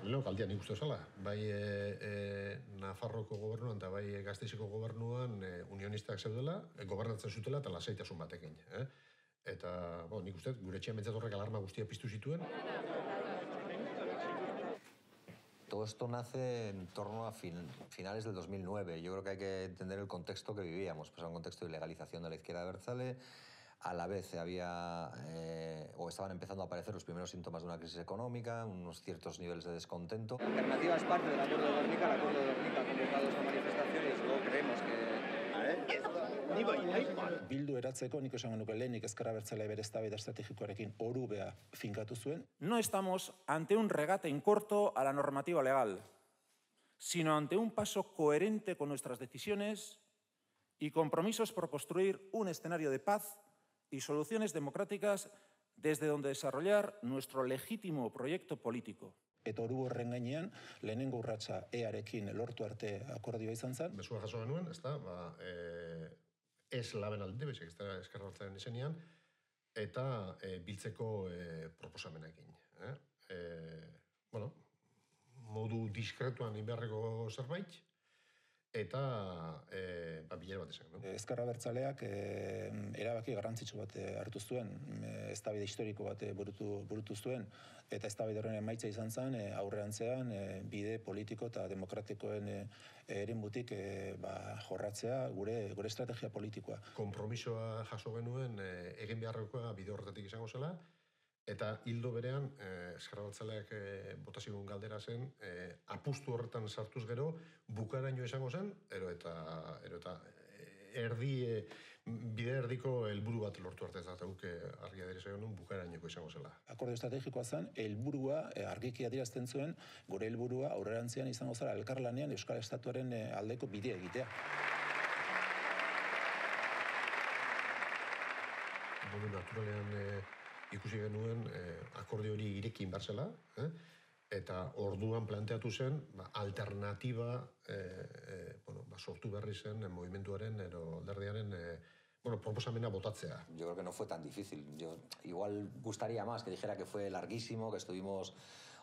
Leheno galdia nik uste zela, bai Nafarroko gobernuan eta bai Gasteizeko gobernuan unionistak zeudela, gobernatzen zutela eta lasaitasun batekin. Eta nik uste gure etxean bentsat horrek alarma guztia piztu zituen. Todo esto nace en torno a finales del 2009. Yo creo que hay que entender el contexto que vivíamos, pues era un contexto de ilegalización de la izquierda abertzale. A la vez o estaban empezando a aparecer los primeros síntomas de una crisis económica, unos ciertos niveles de descontento. La alternativa es parte del acuerdo de Gernika. El acuerdo de Gernika ha convocado esa manifestación y luego creemos que... Bildu eratzeko nik esango nuke lehenik ezker abertzale bere eztabaida estrategikoarekin orubea finkatu zuen. No estamos ante un regate en corto a la normativa legal, sino ante un paso coherente con nuestras decisiones y compromisos por construir un escenario de paz y soluciones democráticas desde donde desarrollar nuestro legítimo proyecto político. Eta oru horren gainean, lehenengo urratsa EArekin lortu arte akordioa izan zen. Mesua jaso genuen, ez laben alde, bezik ezker abertzalearen izenean, eta biltzeko proposamenekin. Modu diskretuan inbeharreko zerbait, eta bilera bat izan. Ezker abertzaleak erabaki garrantzitsu bat hartu zuen, eztabaida historiko bat burutu zuen, eta eztabaida horren emaitza izan zen aurrerantzean bide politiko eta demokratikoen eremutik jorratzea gure estrategia politikoa. Konpromisoa jaso genuen egin beharrekoa bide horretatik izango zela, eta hildo berean, ezker abertzaleak bota zigun galdera zen, apustu horretan sartuz gero, bukaraino izango zen, eta bide erdiko helburu bat lortu arte ez da, guke argi adierazi genuen bukarainoko izango zela. Akordio estrategikoa zen, helburua argiki adierazten zuen, gure helburua aurrerantzean izango zela elkarlanean Euskal Estatuaren aldeko bidea egitea. Modu naturalean ikusi genuen akordio hori irekin barzela, eta orduan planteatu zen alternatiba sortu berri zen movimentuaren edo alderdiaren proposamena botatzea. Yo creo que no fue tan difícil. Yo igual gustaría más que dijera que fue larguísimo, que estuvimos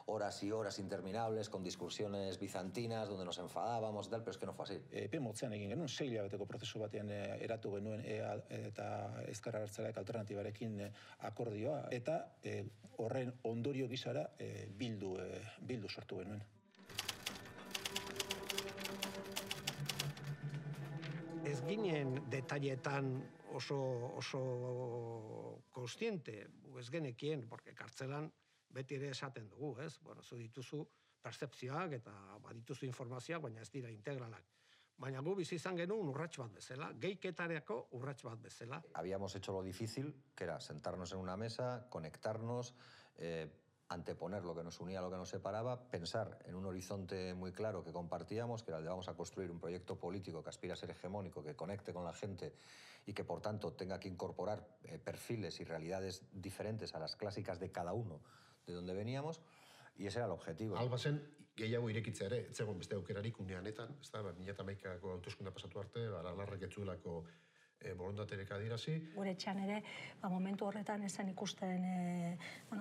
horas y horas interminables con discusiones bizantinas donde nos enfadábamos y tal, pero es que no fue así. Epe motzean egin genuen, 6 hilabeteko prozesu batean eratu genuen eta ezker abertzaleak alternatibarekin akordioa, eta horren ondorio gisara bildu sortu genuen. Ez ginen detailetan oso kontziente, ez genekien, porque kartzelan beti ere esaten dugu, ez? Zu dituzu percepzioak eta badituzu informazioak, baina ez dira integralak. Baina gu bizi izan genuen urrats bat bezala, geiketareko urrats bat bezala. Habíamos hecho lo difícil, que era sentarnos en una mesa, conectarnos, anteponer lo que nos unía a lo que nos separaba, pensar en un horizonte muy claro que compartíamos, que era el de vamos a construir un proyecto político que aspira a ser hegemónico, que conecte con la gente y que por tanto tenga que incorporar perfiles y realidades diferentes a las clásicas de cada uno de donde veníamos, y ese era el objetivo. Alba zen, gehiago irekitzea ere, ez zegoen beste aukerarik uneanetan, 2011ko hauteskunde pasatu arte, Aralarrek ez zuelako borondaterek adirazi. Gure etxean ere, momentu horretan ezen ikusten,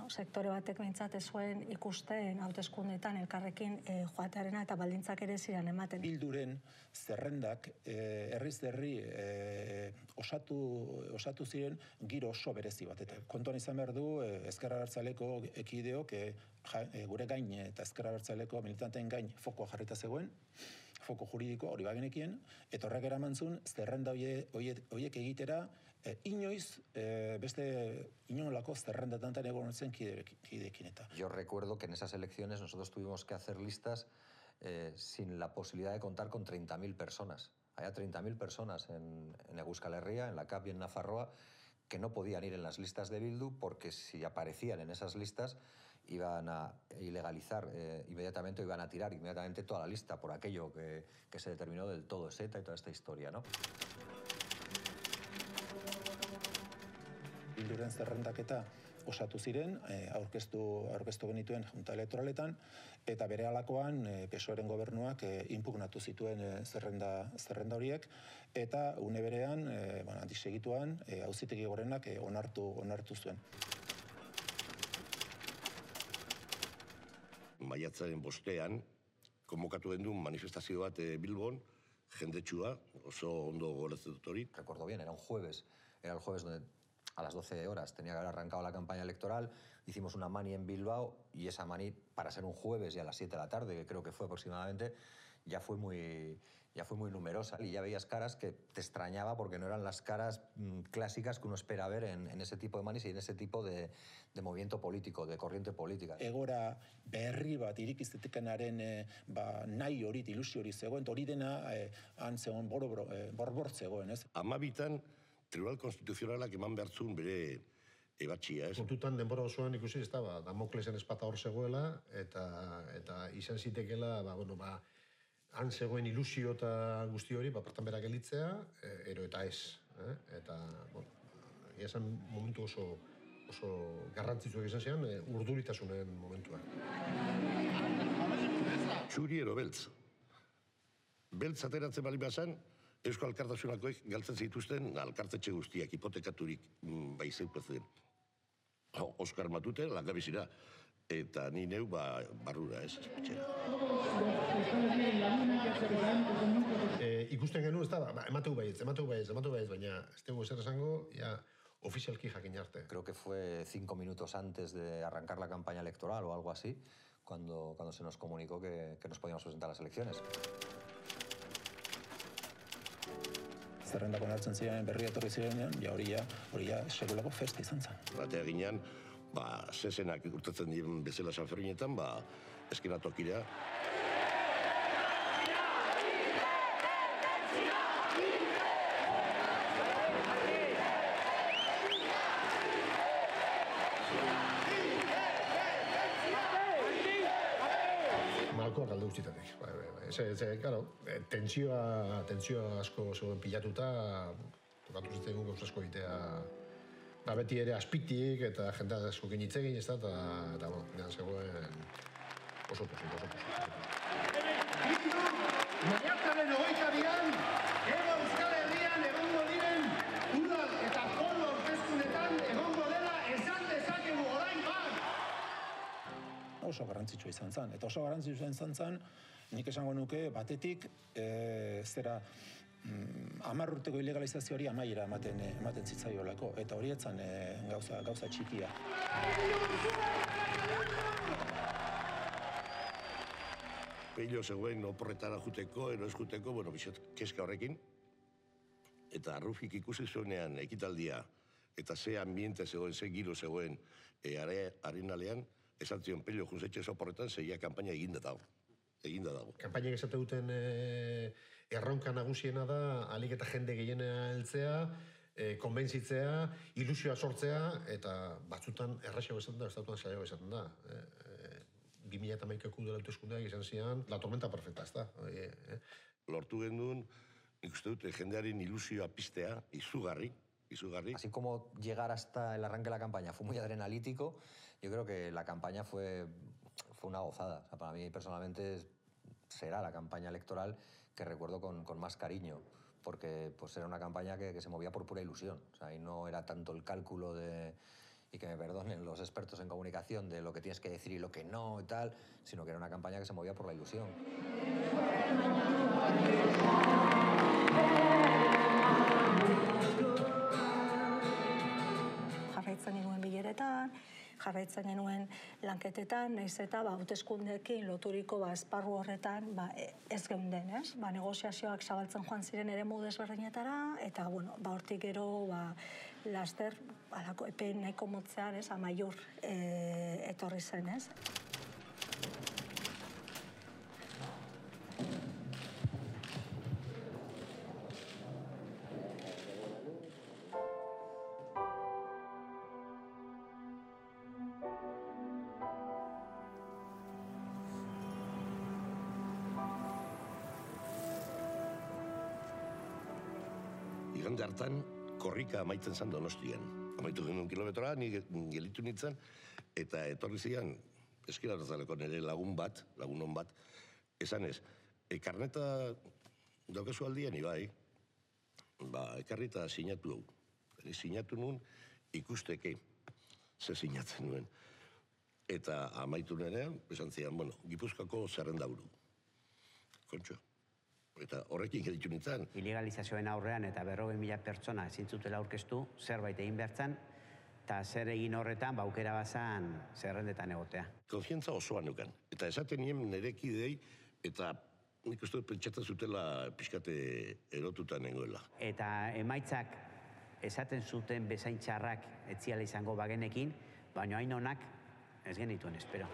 sektore batek behintzat ez zuen ikusten hauteskundeetan elkarrekin joatearena eta baldintzak ere ziren ematen. Bilduren zerrendak herriz herri osatu ziren giro oso berezi bat. Eta kontuan izan behar du, ezker abertzaleko ekideok gure gain eta ezker abertzaleko militanteen gain fokoa jarrita zegoen, foko juridiko hori bagenekien, eta horrek eramantzun zerrenda horiek egitera inoiz beste inolako zerrendatantan egon zen kideekin eta. Yo recuerdo que en esas elecciones nosotros tuvimos que hacer listas sin la posibilidad de contar con 30.000 personas. Había 30.000 personas en Euskal Herria, en la CAP y en Nafarroa, que no podían ir en las listas de Bildu porque si aparecían en esas listas iban a ilegalizar inmediatamente, o iban a tirar inmediatamente toda la lista por aquello que se determinó del todo ETA y toda esta historia, ¿no? Bilduren zerrendaketa osatu ziren, aurkeztu genituen junta elektoraletan, eta bere alakoan PSOEren gobernuak inpugnatu zituen zerrenda horiek, eta une berean, segituan, Auzitegi Gorenak onartu zuen. Maiatzaren 5ean, konbokatu genuen manifestazio bat Bilbon, jendetsua, oso ondo goratzen dut hori. Recuerdo bien, era el jueves donde a las 12 horas tenía que haber arrancado la campaña electoral, hicimos una mani en Bilbao y esa mani, para ser un jueves y a las 7 de la tarde, que creo que fue aproximadamente, ya fue muy numerosa y ya veías caras que te extrañaba porque no eran las caras clásicas que uno espera ver en ese tipo de manis y en ese tipo de movimiento político, de corriente política. Egora berri bat irikistetekenaren nahi hori, ilusio hori zegoen, hori dena han zegoen borbor zegoen, ez? 12an Tribunal Konstituzionalak eman behartzun bere ebatxia, ez? Kontutan denbora osoan ikusi ez da, Damoklesen espata hor zegoela, eta izan zitekela, han zegoen ilusio eta guzti hori, partan berak elitzea, ero eta ez. Eta, esan momentu oso garrantzitsuak izan zian, urduritasunen momentua. Txuri ero beltz. Beltz ateratzen bali bazan, Eusko Alkartasunakoek galtzen zituzten alkartetxe guztiak, hipotekaturik baizeupezen. Oskar Matute, langabizira, eta ni neu barrura, ez, espetxera. Ikusten genuen, ez da, emateu baietz, baina ez dugu ezer esango, ofizialki jakin arte. Creo que fue 5 minutos antes de arrancar la campaña electoral o algo así, cuando se nos comunicó que nos podíamos presentar a las elecciones. Zerrendak onartzen ziren berria etorri zirenean, hori sekulako festa izan zen. Batea ginean, zezenak urtatzen diren bezala Sanferminetan, eskenatokira. Malkoak alde guztitatik. Tentsioa asko zegoen pilatuta, tokatu zitzen gauza asko egitea, beti ere azpitik eta jendea askokin hitz egin, ez da, eta zegoen oso posik. Maiatzaren 22an, Hego Euskal Herrian egongo diren udal eta foru hauteskundeetan egongo dela esan dezakegu orain bat. Oso garrantzitsua izan zen, eta oso garrantzitsua izan zen, nik esango nuke batetik, 10 urteko ilegalizazioari amaiera ematen zitzaiolako, eta hori etzan gauza txikia. Pello zegoen oporretara juteko, ero ez juteko, bizot keska horrekin. Eta Rufik ikusi zuenean ekitaldia, eta ze ambiente zegoen, ze giro zegoen arenalean, esan zion Pello junzetxe oporretan, zeia kampaina eginda dago. Kampainak esate duten erronka nagusiena da, alik eta jende gehiena heltzea, konbentzitzea, ilusioa sortzea, eta batzutan erraxago esaten da, estatuan saiago esaten da. 2011ko udal hauteskundeak izan zian, la tormenta perfecta, ez da. Lortu genduen, nik uste dut, jendearen ilusioa piztea, izugarri. Así como llegar hasta el arranque de la campaña fue muy adrenalítico, yo creo que la campaña fue una gozada. O sea, para mí personalmente será la campaña electoral que recuerdo con más cariño, porque pues era una campaña que se movía por pura ilusión. O sea, y no era tanto el cálculo y que me perdonen los expertos en comunicación, de lo que tienes que decir y lo que no y tal, sino que era una campaña que se movía por la ilusión. Jarraitzen genuen bileretan, jarraitzen genuen lanketetan, nahiz eta hauteskundeekin loturiko esparru horretan ez geunden, ez? Negoziazioak zabaltzen joan ziren eremu desberdinetara, eta hortik gero laster epe nahiko motzean, amaiur etorri zen, ez? igande hartan, korrika amaitzen zen Donostian. Amaitu genuen kilometroa, ni gelitu nintzen, eta etorri zian, eskira hartzaleko nire lagunon bat, esan ez, karneta daukazu aldian, ibai, ekarri eta sinatu hau. Sinatu nuen ikusteke, ze sinatzen nuen. Eta amaitu nenean, esan zian, Gipuzkoako zerrendaburu. Kontxo. Eta horrekin geditu nintzen. Ilegalizazioen aurrean eta 40.000 pertsona ezin zutela aurkeztu, zerbait egin behartzen, eta zer egin horretan, aukera bazan zerrendetan egotea. Konfiantza osoa nukan. Eta esaten nien nire kidei, eta nik uste pentsatzen zutela pixkate erotuta nengoela. Eta emaitzak esaten zuten bezain txarrak etziala izango bagenekin, baina hain honak ez genituen espero.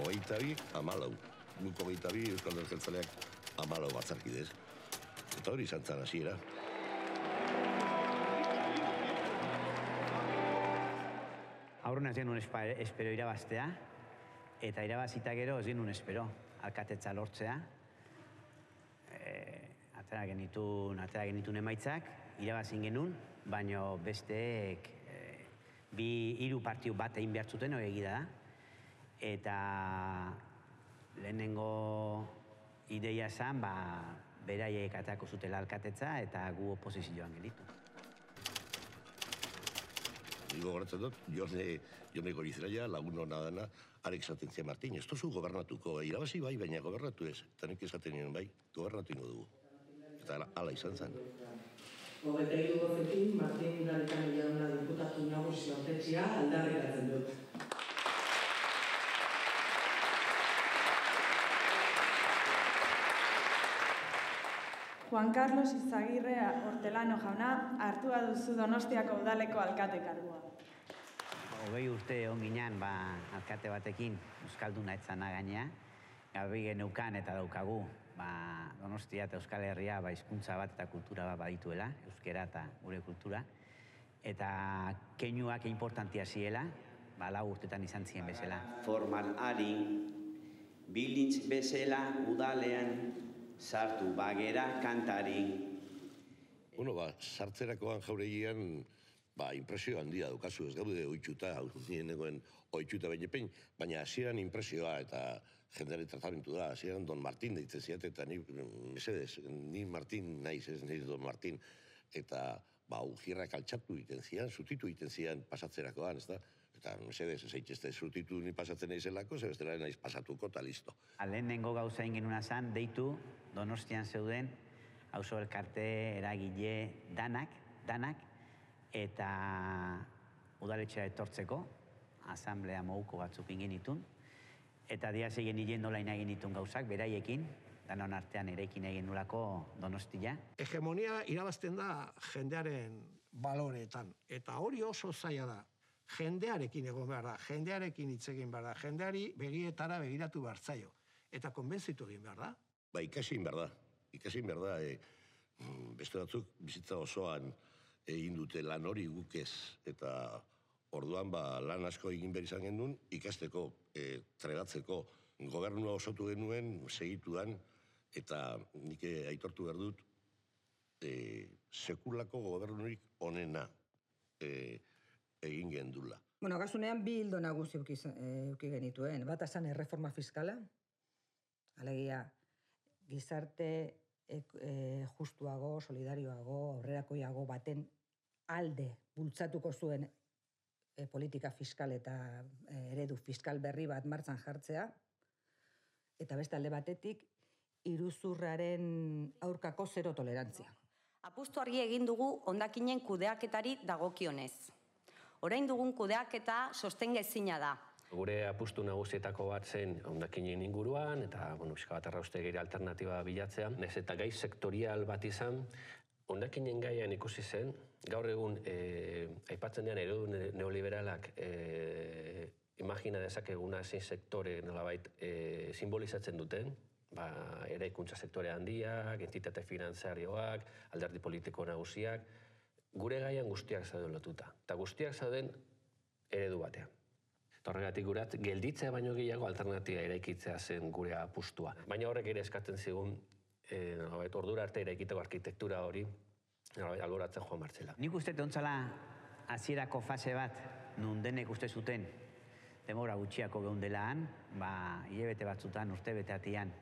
22, 14. Guk 22, Euskal Jeltzaleak 14 batzarkidez. Eta hori izan zan hasiera. Aurren ez genuen espero irabaztea, eta irabazita gero ez genuen espero alkatetza lortzea. Atera genitun emaitzak, irabazin genuen, baina besteek hiru partiu bat egin behar zuten, hori egida da. Eta lehenengo ideia zen, beraiek atako zutela alkatetza eta gu oposizioan gelitu. Nigo goratzen dut, Jone Gorizelaia, lagun hona dana, arek esaten zian Martin, ez tozu gobernatuko, irabazi bai, baina gobernatu ez. Eta nik esaten nien bai, gobernatu ingo dugu. Eta ala izan zen. 23 bozekin, Martin Garitano jauna diputatu nagusi hautetzea aldarrikatzen dut. Juan Carlos Izagirre Hortelano jauna hartua duzu Donostiako udaleko alkate kargua. 20 urte egon ginen alkate batekin, euskalduna etzana gainea, garbi geneukan eta daukagu, Donostia eta Euskal Herria hizkuntza bat eta kultura bat badituela, euskera eta gure kultura, eta keinuak importantia ziela, 4 urtetan izan ziren bezala. Formal ari, bilintz bezala udalean sartu bagera kantari. Sartzerakoan jauregian, impresio handia daukazu, ez gaude oitxuta, nienegoen oitxuta behinepein, baina hasieran impresioa eta jendeari tratamentu da, hasieran Don Martin deitzen ziat, eta ni Martin naiz, ez naiz Don Martin, eta ujierrak altxatu egiten zian, zutitu egiten zian pasatzerakoan, ez da? Eta mesedez, ez eitxezte zutitu ni pasatzen naizelako, ze bestela naiz pasatuko, eta listo. Lehenengo gauza ingenuna zan, deitu, Donostian zeuden, auzo elkarte, eragile, danak, eta udaletxera etortzeko, asamblea moguko batzuk ingenitun, eta diaz egin hilen nola egin ditun gauzak, beraiekin, danon artean erekin egin nolako Donostia. Hegemonia irabazten da jendearen baloreetan, eta hori oso zaila da. Jendearekin egon behar da, jendearekin hitz egin behar da, jendeari begietara begiratu behar zaio, eta konbentzitu egin behar da. Ikasi egin behar da, beste batzuk bizitza osoan egin dute lan hori guk ez, eta orduan lan asko egin behar izan genuen, ikasteko, trebatzeko, gobernua osotu genuen, segituan, eta nik aitortu behar dut, sekulako gobernurik onena egin gendula. Kasunean, bi hildo nagusi euki genituen. Bat esan erreforma fiskala, alegia gizarte justuago, solidarioago, aurrerakoiago baten alde bultzatuko zuen politika fiskal eta eredu fiskal berri bat martxan jartzea, eta beste alde batetik, iruzurraren aurkako zero tolerantzia. Apustu argi egin dugu hondakinen kudeaketari dagokionez. Orain dugun kudeaketa sostengezina da. Gure apustu nagusietako bat zen hondakinen inguruan, eta pixka bat arraustegiri alternatiba bilatzea. Nez eta gai sektorial bat izan, hondakinen gaian ikusi zen, gaur egun aipatzen dean eredu neoliberalak imagina dezakeguna zein sektore nolabait simbolizatzen duten, eraikuntza sektore handiak, entitate finantzarioak, alderdi politiko nagusiak, gure gaian guztiak zauden lotuta. Eta guztiak zauden eredu batean. Horregatik gurat, gelditzea baino gehiago alternatiba eraikitzea zen gure apustua. Baina horrek ere eskatzen zigun, ordura arte eraikiteko arkitektura hori, alboratzen joan martzela. Nik uste ontzala hasierako fase bat, nun denek uste zuten, demora gutxiako geundela han, hilabete batzutan, urte beteatian,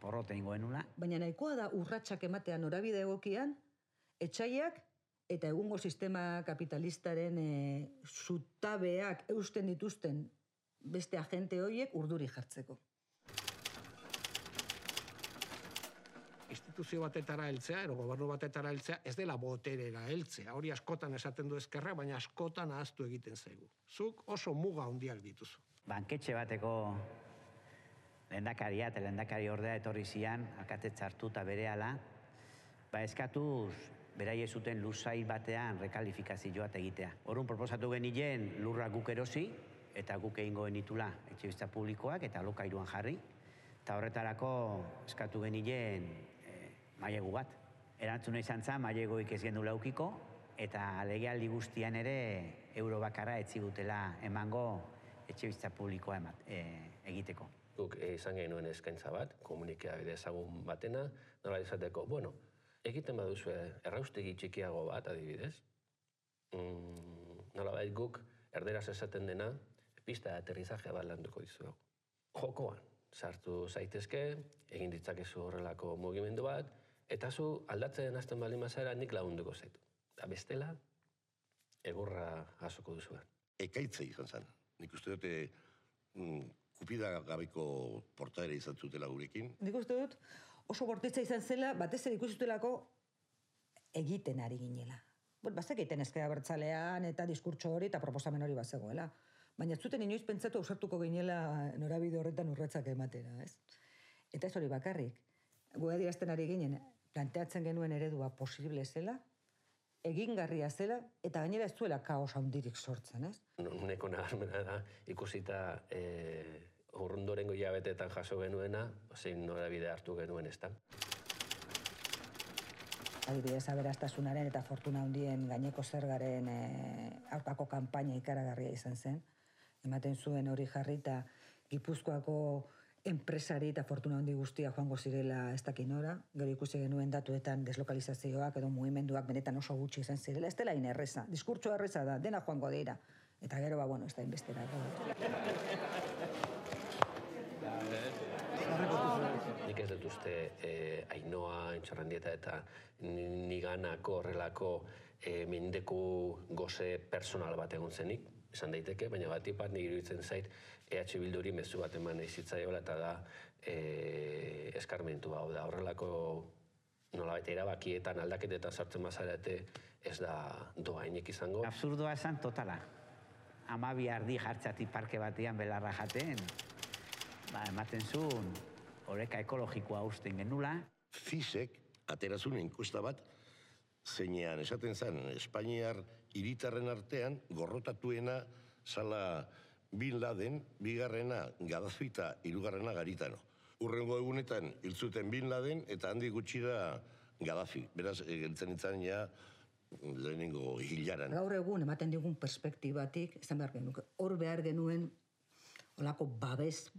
porrote ingoen nula. Baina nahikoa da urratsak ematean norabide egokian, etxaiak eta egungo sistema kapitalistaren zutabeak eusten dituzten beste agente horiek urduri jartzeko. Instituzio batetara heltzea, ero gobernu batetara heltzea, ez dela boterera heltzea. Hori askotan esaten du ezkerra, baina askotan ahaztu egiten zaigu. Zuk oso muga handiak dituzu. Banketxe bateko lehendakaria eta lehendakari ordea etorri zian, alkatetza hartu eta berehala, eskatuz beraie zuten lursail batean rekalifikazioa egitea. Orrun proposatu genilen lurra guk erosi, eta guk egingo genitula etxebizitza publikoak eta alokairuan jarri, eta horretarako eskatu genilen mailegu bat. Erantzuna izan zen, mailegoik ez gendu laukiko, eta legealdi guztian ere euro bakarra etzigutela emango etxebizitza publikoa egiteko. Guk izan genuen eskaintza bat, komunikabide ezagun batena, nola izateko, egiten baduzu erraustegi txikiago bat, adibidez, nolabait guk erderaz esaten dena, pista de aterrizaje bat landuko dizuegu. Jokoan, sartu zaitezke, egin ditzakezu horrelako mugimendu bat, eta zu aldatzen hasten baldin bazara nik lagunduko zaitu. Eta bestela, egurra jasoko duzuen. Ekaitza izan zen. Nik uste dute kupida gabeko portaera izan zutela gurekin. Nik uste dut oso bortitza izan zela, batez ere ikustutelako egiten ari ginela. Bazek egiten ezkera bertzalean eta diskurtso hori eta proposamen hori bazegoela. Baina ez zuten inoiz pentsatu ausartuko ginela norabide horretan urratsak ematera, ez? Eta ez hori bakarrik. Gu adierazten ari ginen, planteatzen genuen eredua posible zela, egingarria zela, eta gainera ez zuela kaos handirik sortzen, ez? Nuneko nabarmena da, ikusita urrundorengo hilabeteetan jaso genuena, zein norabide hartu genuen ez da. Adibidez, aberastasunaren eta fortuna handien gaineko zergaren aurkako kanpaina ikaragarria izan zen. Ematen zuen hori jarri eta Gipuzkoako enpresari eta fortuna handi guztia joango zirela ez dakin nora. Gero ikusi genuen datuetan deslokalizazioak edo mugimenduak benetan oso gutxi izan zirela. Ez dela inerreza, diskurtsoa erreza da, dena joango dira. Eta gero, ez da inbestera. Nik ez dut uste Ainhoa, Intxarrandieta eta niganako horrelako mendeku goze personal bat egon zenik, esan daiteke, baina batipat nik iruditzen zait EH Bilduri mezu bat eman izitzaiola eta da eskarmentu hau da. Horrelako nolabait erabakietan aldaketetan sartzen bazarete ez da doainik izango. Absurdoa esan totala. 12 ardi jartzatik parke batean belarra jaten, ematen zuen oreka ekologikoa usten genula. Fisek aterazun enkuesta bat, zeinean esaten zen Espainiar hiritarren artean gorrotatuena zala Bin Laden, bigarrena Gaddafi eta hirugarrena Garitano. Hurrengo egunetan hil zuten Bin Laden eta handik gutxira Gaddafi. Beraz, geltzen itzan ja lehenengo hilaran. Gaur egun ematen digun perspektibatik, esan behar genuke, hor behar genuen olako babes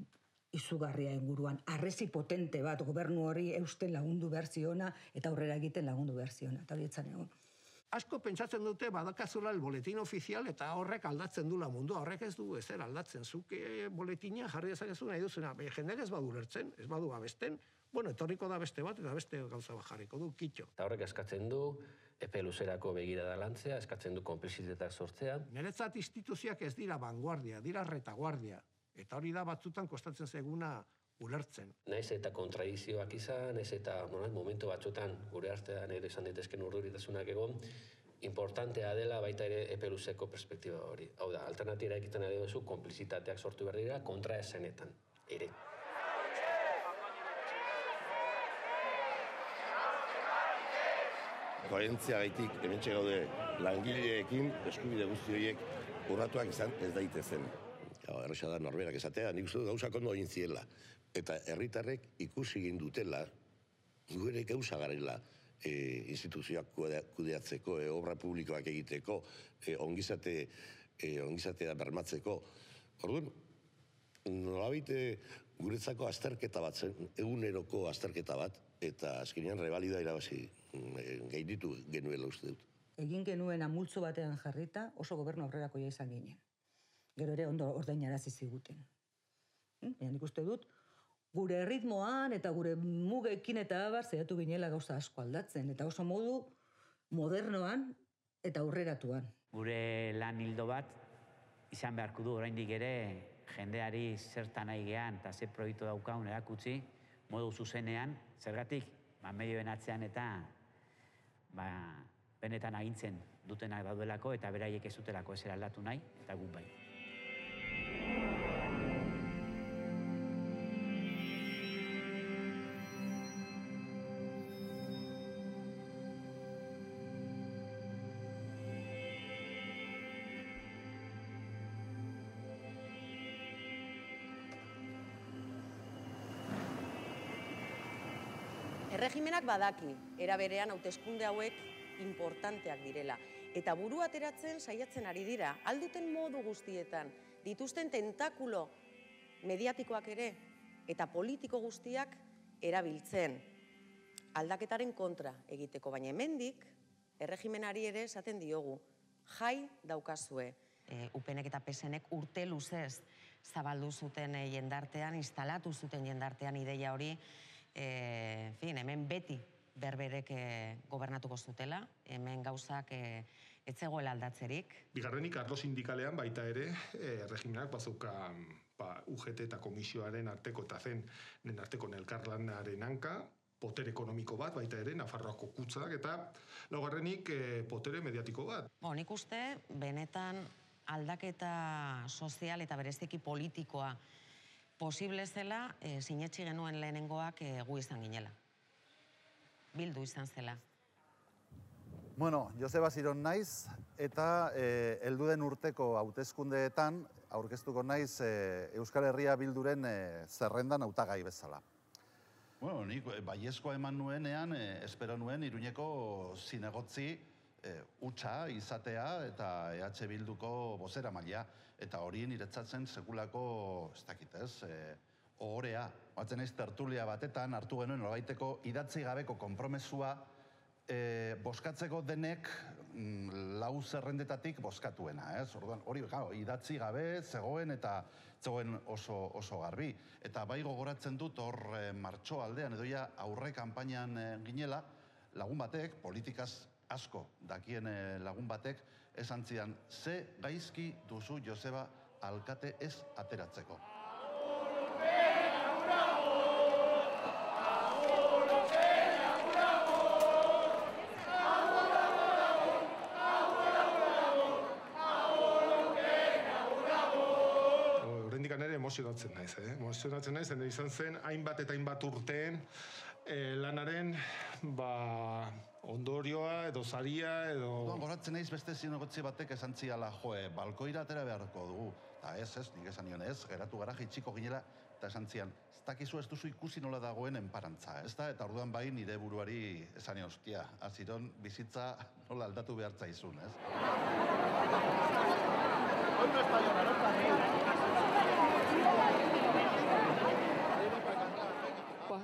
izugarria inguruan, arrezi potente bat gobernu hori eusten lagundu behar ziona eta aurrera egiten lagundu behar ziona. Eta hori etzan egon. Asko pentsatzen dute badakazula el boletin ofizial eta horrek aldatzen dula mundua, horrek ez du ezer aldatzen. Zuk boletina jarri dezakezu nahi duzuna, jendeak ez badu lertzen, ez badu abesten, etorriko da beste bat eta beste gauza bat jarriko du, kitxo. Eta horrek eskatzen du epe luzerako begirada lantzea, eskatzen du konplizitetak sortzea. Niretzat instituzioak ez dira vanguardia, dira retaguardia. Eta hori da batzutan kostatzen zaiguna ulertzen. Naiz eta kontradizioak izan, naiz eta momentu batzutan gure artean ere izan daitezken urduritasunak egon, importantea dela baita ere epe luzeko perspektiba hori. Hau da, alternatira egiten ari duzu, konplizitateak sortu behar dira kontraesanetan ere. Koherentzia gaitik, hementxe gaude langileekin, eskubide guzti horiek urratuak izan ez daitezen. Erresa da norberak esatea, nik uste gauzak ondo egin ziela. Eta herritarrek ikusi egin dutela, gure gauza garela instituzioak kudeatzeko, obra publikoak egiteko, ongizatea bermatzeko. Orduan, nolabait guretzako azterketa bat zen, eguneroko azterketa bat, eta azkenean revalida irabazi gainditu genuela uste dut. Egin genuen multzo batean jarrita oso gobernu aurrerakoia izan ginen. Gero ere ondo ordainarazi ziguten. Baina nik uste dut, gure ritmoan eta gure mugekin eta abar zehatu ginela gauza asko aldatzen, eta oso modu modernoan eta aurreratuan. Gure lan hildo bat izan beharko du oraindik ere jendeari zertan nahi gehan eta ze proiektu daukagun erakutsi modu zuzenean, zergatik medioen atzean eta benetan agintzen dutenak daudelako eta beraiek ez dutelako ez aldatu nahi eta guk bai. Erregimenak badaki, era berean hauteskunde hauek importanteak direla. Eta burua ateratzen saiatzen ari dira, alduten modu guztietan, dituzten tentakulo mediatikoak ere, eta politiko guztiak erabiltzen. Aldaketaren kontra egiteko, baina hemendik, erregimenari ere esaten diogu, jai daukazue. UPNek eta PSNek urte luzez zabaldu zuten jendartean, instalatu zuten jendartean ideia hori, hemen beti berberek gobernatuko zutela, hemen gauzak ez zegoela aldatzerik. Bigarrenik, arlo sindikalean baita ere, erregimenak bazauka UGT eta komisioaren arteko eta zen arteko elkarlanaren hanka, potere ekonomiko bat, baita ere, Nafarroako kutzak, eta laugarrenik potere mediatiko bat. Nik uste, benetan aldaketa sozial eta bereziki politikoa posible zela, sinetsi genuen lehenengoak gu izan ginela. Bildu izan zela. Bueno, Joseba Ziron naiz, eta helduden urteko hauteskundeetan aurkeztuko naiz Euskal Herria Bilduren zerrendan hautagai bezala. Bueno, nik baiezkoa eman nuenean, espero nuen Iruñeko zinegotzi utxa izatea eta EH Bilduko bozera maila. Eta hori niretzatzen sekulako, ez dakit ez, ohorea. Batzen ez tertulia batetan hartu genuen nolabaiteko idatzi gabeko konpromesua boskatzeko denek lau zerrendetatik boskatuena. Hori idatzi gabe zegoen eta zegoen oso garbi. Eta bai gogoratzen dut hor martxo aldean edo ja aurre kanpainan ginela, lagun batek, politikaz asko dakien lagun batek, esan zidan, ze gaizki duzu Joseba alkate ez ateratzeko. Horrendikan ere emozionatzen naiz, emozionatzen naiz, izan zen hainbat eta hainbat urteen lanaren ondorioa edo zaria edo... Goratzen naiz beste zinegotzi batek esan ziala, balkoira atera beharko dugu. Eta ez, nik esan nion ez, geratu gara jaitsiko ginela, eta esan zian, ez dakizu ez duzu ikusi nola dagoen enparantza, ez da? Eta orduan bai nire buruari esan nion, ostia, Aziron bizitza nola aldatu behar zaizun, ez?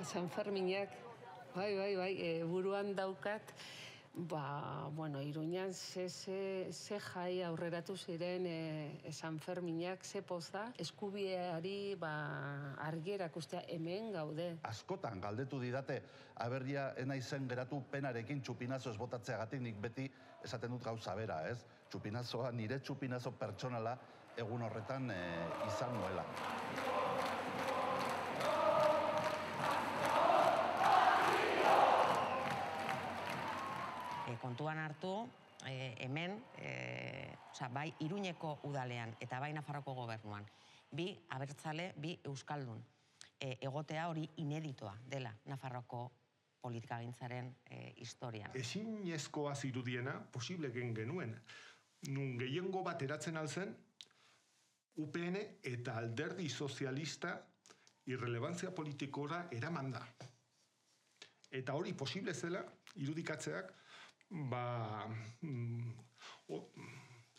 San Ferminak, bai, buruan daukat, Iruñan ze jai aurreratu ziren San Ferminak, ze poza, eskubiari argierak ustea hemen gaude. Askotan galdetu didate, aberria enaizen geratu penarekin txupinazo ez botatzeagatik nik beti esaten dut gauza bera, ez? Txupinazoa, nire txupinazo pertsonala egun horretan izan nuela. Kontuan hartu, hemen, bai Iruñeko udalean eta bai Nafarroko gobernuan, bi abertzale, bi euskaldun. Egotea hori ineditoa dela Nafarroko politikagintzaren historian. Ezinezkoa zirudiena, posible genuen, nun gehiengo bat eratzen alzen, UPN eta alderdi sozialista irrelevantzia politikora eraman da. Eta hori posible zela, irudikatzeak,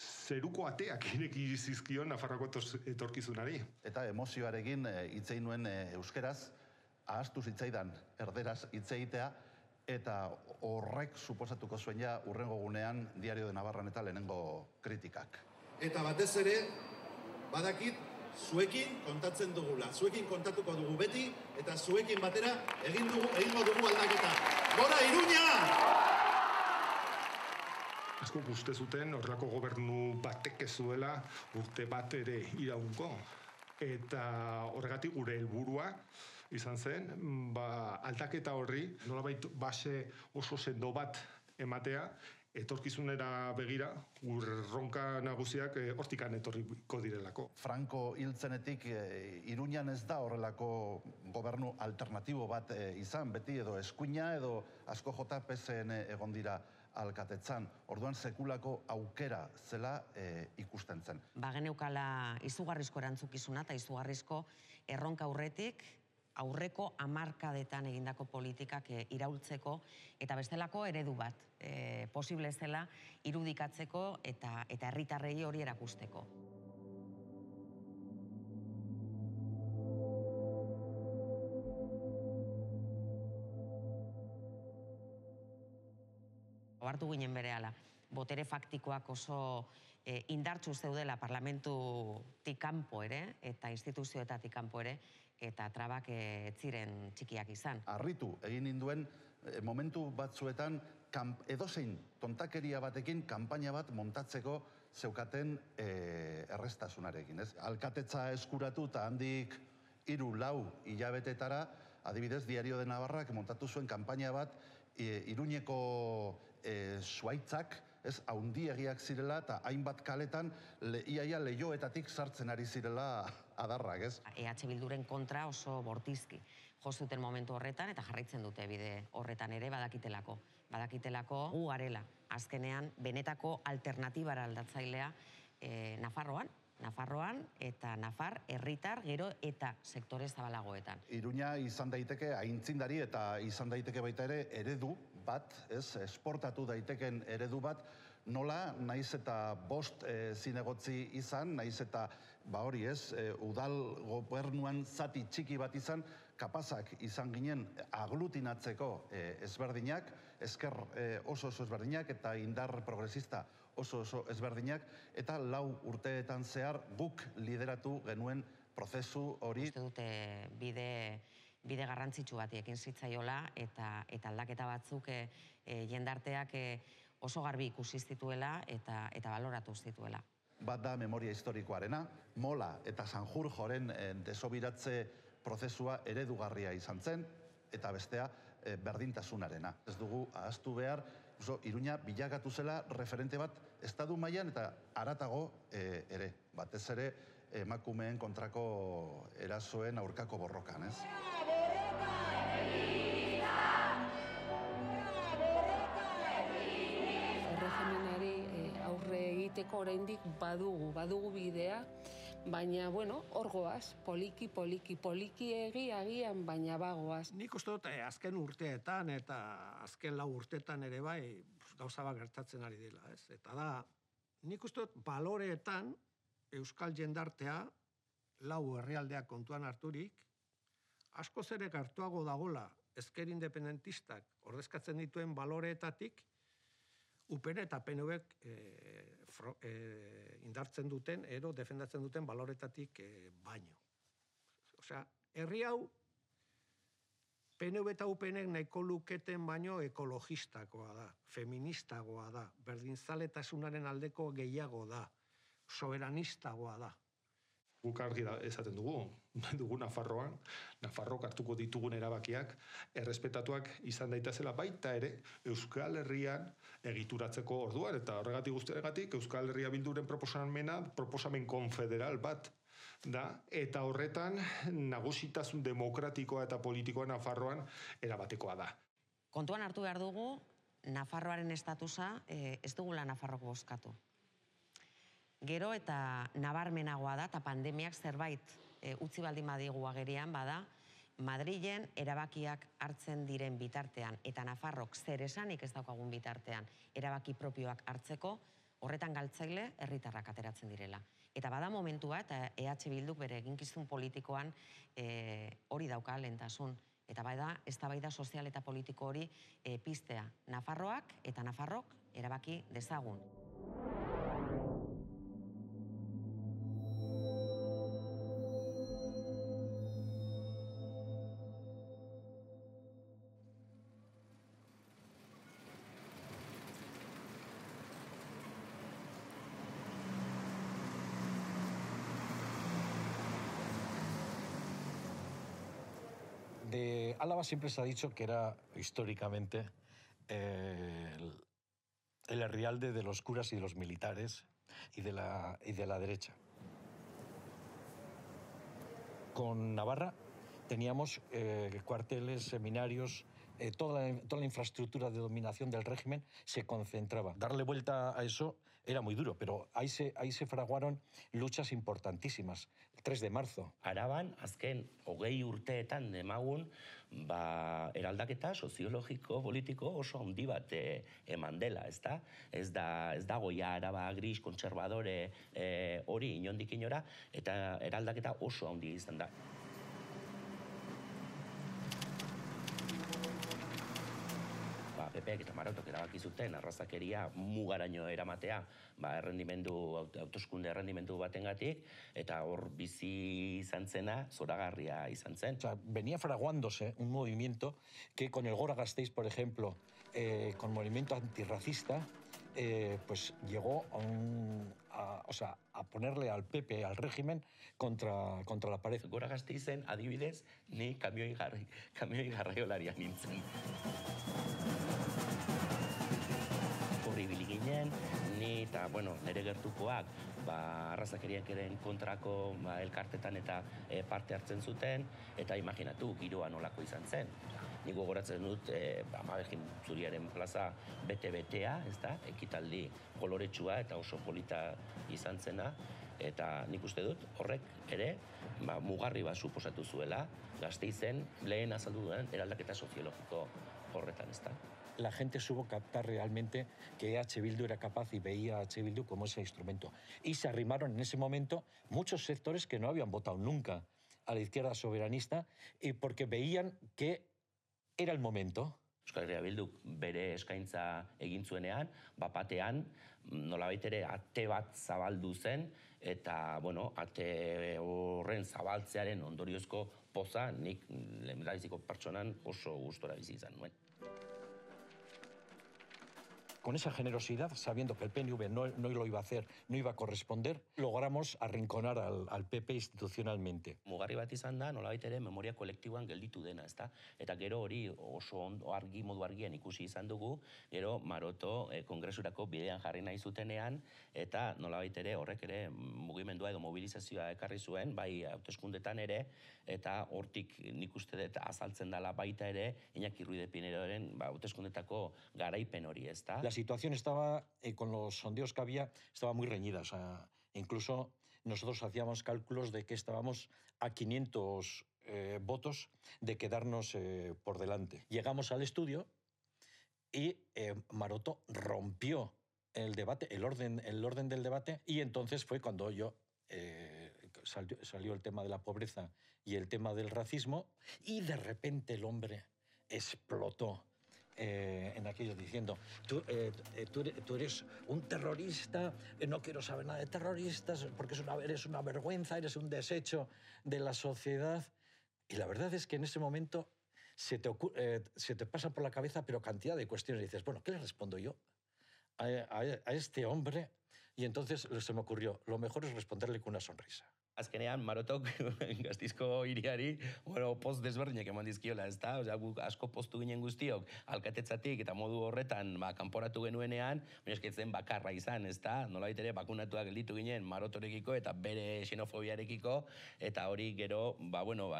zeruko ateak ireki zizkion Nafarroako etorkizunari. Eta emozioarekin hitzein nuen euskeraz, ahaztu zitzaidan erderaz hitz egitea, eta horrek suposatuko zuen ja urrengo gunean Diario de Navarran eta lehenengo kritikak. Eta batez ere, badakit, zuekin kontatzen dugula. Zuekin kontatuko dugu beti, eta zuekin batera egingo dugu aldaketa. Gora, Iruña! Asko uste zuten horrelako gobernu batek ez zuela urte bat ere iraungo. Eta horregatik gure helburua izan zen, aldaketa horri nolabait base oso sendo bat ematea, etorkizunera begira, erronka nagusiak hortikan etorriko direlako. Franco hiltzenetik Iruñan ez da horrelako gobernu alternatibo bat izan, beti edo eskuina edo asko jota PSN egon dira alkatetzan. Orduan sekulako aukera zela ikusten zen. Bageneukala izugarrizko erantzukizuna eta izugarrizko erronka aurretik, aurreko hamarkadetan egindako politikak iraultzeko eta bestelako eredu bat posible zela irudikatzeko eta herritarrei hori erakusteko. Ohartu ginen berehala, botere faktikoak oso indartsu zeudela parlamentutik kanpo ere eta instituzioetatik kanpo ere, eta trabak ez ziren txikiak izan. Harritu egin ninduen momentu batzuetan edozein tontakeria batekin kanpaina bat montatzeko zeukaten errestasunarekin. Alkatetza eskuratu eta handik 3-4 hilabetetara, adibidez, Diario de Navarrak montatu zuen kanpaina bat Iruñeko zuaitzak, haundiegiak zirela eta hainbat kaletan iaia leioetatik sartzen ari zirela adarrak, ez? EH Bilduren kontra oso bortizki jo zuten momentu horretan eta jarraitzen dute bide horretan ere badakitelako. Badakitelako gu garela, azkenean benetako alternatibara aldatzailea Nafarroan eta Nafar herritar gero eta sektore zabalagoetan. Iruña izan daiteke aintzindari eta izan daiteke baita ere eredu bat, esportatu daiteken eredu bat, nola naiz eta 5 zinegotzi izan, naiz eta hori udal gobernuan zati txiki bat izan, kapazak izan ginen aglutinatzeko ezberdinak, ezker oso ezberdinak eta indar progresista oso ezberdinak, eta 4 urteetan zehar guk lideratu genuen prozesu hori. Uste dute bide garrantzitsu bat ekin zitzaiola eta aldaketa batzuk jendarteak oso garbi ikusi zituela eta baloratu zituela. Bat da memoria historikoarena, Mola eta Sanjurjoren desobiratze prozesua eredugarria izan zen, eta bestea berdintasunarena. Ez dugu ahaztu behar, Iruña bilakatu zela referente bat estatu mailan eta haratago ere, batez ere emakumeen kontrako erasoen aurkako borrokan, ez? Erregimenari aurre egiteko oraindik badugu bidea, baina, hor goaz, poliki agian, baina bagoaz. Nik uste dut azken urteetan eta azken 4 urteetan ere bai gauza bat gertatzen ari dela, ez? Eta da, nik uste dut baloreetan euskal jendartea 4 herrialdeak kontuan harturik, askoz ere hartuago dagola ezker independentistak ordezkatzen dituen baloreetatik UPN eta PNVek indartzen duten, defendatzen duten baloretatik baino. Osea, herri hau PNV eta UPNek nahiko luketen baino ekologistakoa da, feministagoa da, berdinzaletasunaren aldeko gehiago da, soberanistagoa da. Guk argi esaten dugu Nafarroan, Nafarrok hartuko ditugun erabakiak, errespetatuak izan daitezela baita ere Euskal Herrian egituratzeko orduan, eta horregatik guztiagatik Euskal Herria Bilduren proposamen konfederal bat da, eta horretan nagusitasun demokratikoa eta politikoa Nafarroan erabatekoa da. Kontuan hartu behar dugu, Nafarroaren estatusa ez dugula Nafarrok bozkatu. Gero eta nabarmenagoa da, eta pandemiak zerbait utzi baldin badigu agerian bada, Madrilen erabakiak hartzen diren bitartean, eta Nafarrok zer esanik ez daukagun bitartean erabaki propioak hartzeko, horretan galtzaile herritarrak ateratzen direla. Eta bada momentua, eta EH Bilduk bere eginkizun politikoan hori dauka lehentasun, Eta bai da, eztabaida sozial eta politiko hori piztea. Nafarroak eta Nafarrok erabaki dezagun. De Álava siempre se ha dicho que era históricamente el herrialde de los curas y de los militares y de la derecha. Con Navarra teníamos cuarteles, seminarios, toda la infraestructura de dominación del régimen se concentraba. Darle vuelta a eso era muy duro, pero ahí se fraguaron luchas importantísimas. El 3 de marzo. Araban, azken, 20 urteetan demagun, eraldaketa soziologiko, politiko oso handi bat eman dela, ezta? Ez dago ja Araba gris, kontserbadore hori inondik inora, eta eraldaketa oso handi izan da. PPek eta Marotok erabaki zuten arrazakeria mugaraino eramatea hauteskunde errendimendu batengatik, eta hor bizi izan zena zoragarria izan zen. O sea, venía fraguándose un movimiento que con el Gora Gasteiz, por ejemplo, con el movimiento antirracista, pues llegó a ponerle al PP, al régimen, contra la pared. Gora Gasteizen, adibidez, ni kamioi garraiolaria nintzen. Horri ibili ginen, ni eta, nire gertukoak arrazakeriakeren kontrako elkartetan eta parte hartzen zuten, eta imaginatu, giroa nolako izan zen. Nik gogoratzen dut, Amabegin Zuriaren plaza bete-betea, ekitaldi koloretsua eta oso polita izan zena, eta nik uste dut horrek ere mugarri bat suposatu zuela, Gasteizen lehen azaldu duen eraldaketa soziologiko horretan, ezta. La gente supo captar realmente que EH Bildu era capaz y veía a EH Bildu como ese instrumento. Y se arrimaron en ese momento muchos sectores que no habían votado nunca a la izquierda soberanista y porque veían que era el momento. Euskal Herria Bilduk bere eskaintza egin zuenean, bapatean nolabait ere ate bat zabaldu zen, eta, ate horren zabaltzearen ondoriozko poza nik lehendabiziko pertsonan oso gustora bizi izan nuen. Con esa generosidad, sabiendo que el PNV no lo iba a hacer, no iba a corresponder, logramos arrinconar al PP institucionalmente. Mugarri bat izan da, nolabait ere memoria kolektiboan gelditu dena, ezta? Eta gero hori oso modu argian ikusi izan dugu, gero Maroto kongresurako bidean jarri nahi zutenean, eta nolabait ere horrek ere mugimendua edo mobilizazioa ekarri zuen, bai hauteskundetan ere, eta hortik nik uste dut azaltzen dela baita ere, Iñaki Ruiz de Pinedoren hauteskundetako garaipen hori, ezta? La situación estaba, con los sondeos que había, estaba muy reñida. O sea, incluso nosotros hacíamos cálculos de que estábamos a 500 votos de quedarnos por delante. Llegamos al estudio y Maroto rompió el debate, el orden del debate, y entonces fue cuando salió el tema de la pobreza y el tema del racismo, y de repente el hombre explotó en aquello diciendo, tú eres un terrorista, no quiero saber nada de terroristas, porque eres una vergüenza, eres un desecho de la sociedad. Y la verdad es que en ese momento se te pasa por la cabeza, pero cantidad de cuestiones. Y dices, bueno, ¿qué le respondo yo a este hombre? Y entonces se me ocurrió, lo mejor es responderle con una sonrisa. Azkenean, Marotok Gasteizko hiriari, poz desberdinak eman dizkiola, ezta? Guk asko poztu ginen guztiok, alkatetzatik eta modu horretan kanporatu genuenean, baina esketzen bakarra izan, ezta? Nolabait ere bakunatuak gelditu ginen Marotorekiko eta bere xenofobiarekiko, eta hori gero,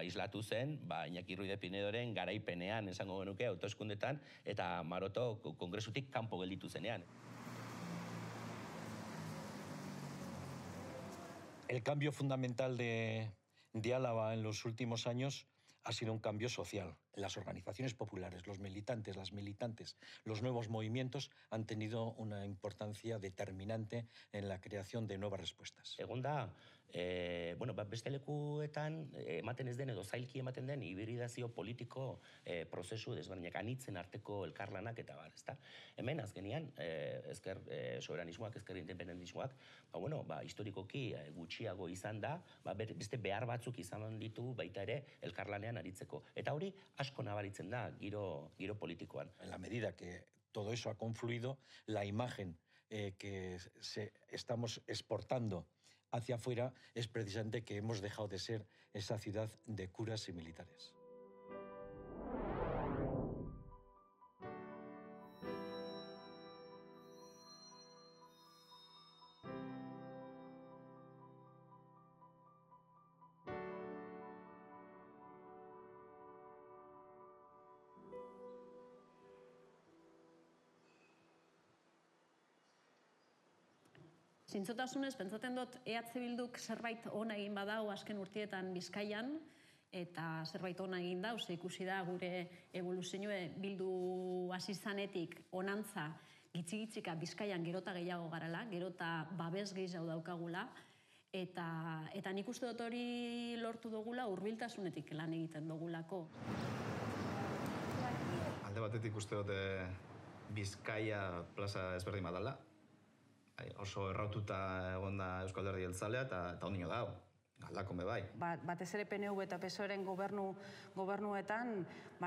islatu zen, Iñaki Ruiz de Pinedoren garaipenean, esango genuke, hauteskundetan, eta Maroto kongresutik kanpo gelditu zenean. El cambio fundamental de Álava en los últimos años ha sido un cambio social. Las organizaciones populares, los militantes, las militantes, los nuevos movimientos han tenido una importancia determinante en la creación de nuevas respuestas. Egon da, beste lekuetan ematen ez den edo zailki ematen den hibridazio politiko prozesu desberdinak anitzen arteko elkarlanak eta bar, ezta? Hemen azkenian, ezker soberanismoak, ezker independentismoak, historikoki gutxiago izan da, beste behar batzuk izan ditu baita ere elkarlanean aritzeko. Eta hori asko nabaritzen da giro politikoan. En la medida que todo eso ha confluido, la imagen que estamos exportando hacia afuera es precisamente que hemos dejado de ser esa ciudad de curas y militares. Zintzotasunez, pentsatzen dut EH Bilduk zerbait ona egin badau azken urtietan Bizkaian, eta zerbait ona egin dau, ze ikusi da gure evoluzioa bildu hasi zanetik onantza gitzi-gitzika Bizkaian gerota gehiago garala, gerota babes gehiago daukagula, eta nik uste dut hori lortu dugula hurbiltasunetik lan egiten dugulako. Alde batetik uste dut Bizkaia plaza ezberdin badala. Oso erraututa egon da Euskal Alderdi Jeltzalea eta ondino dago, galdakon bai. Batez ere PNV eta PSOEren gobernuetan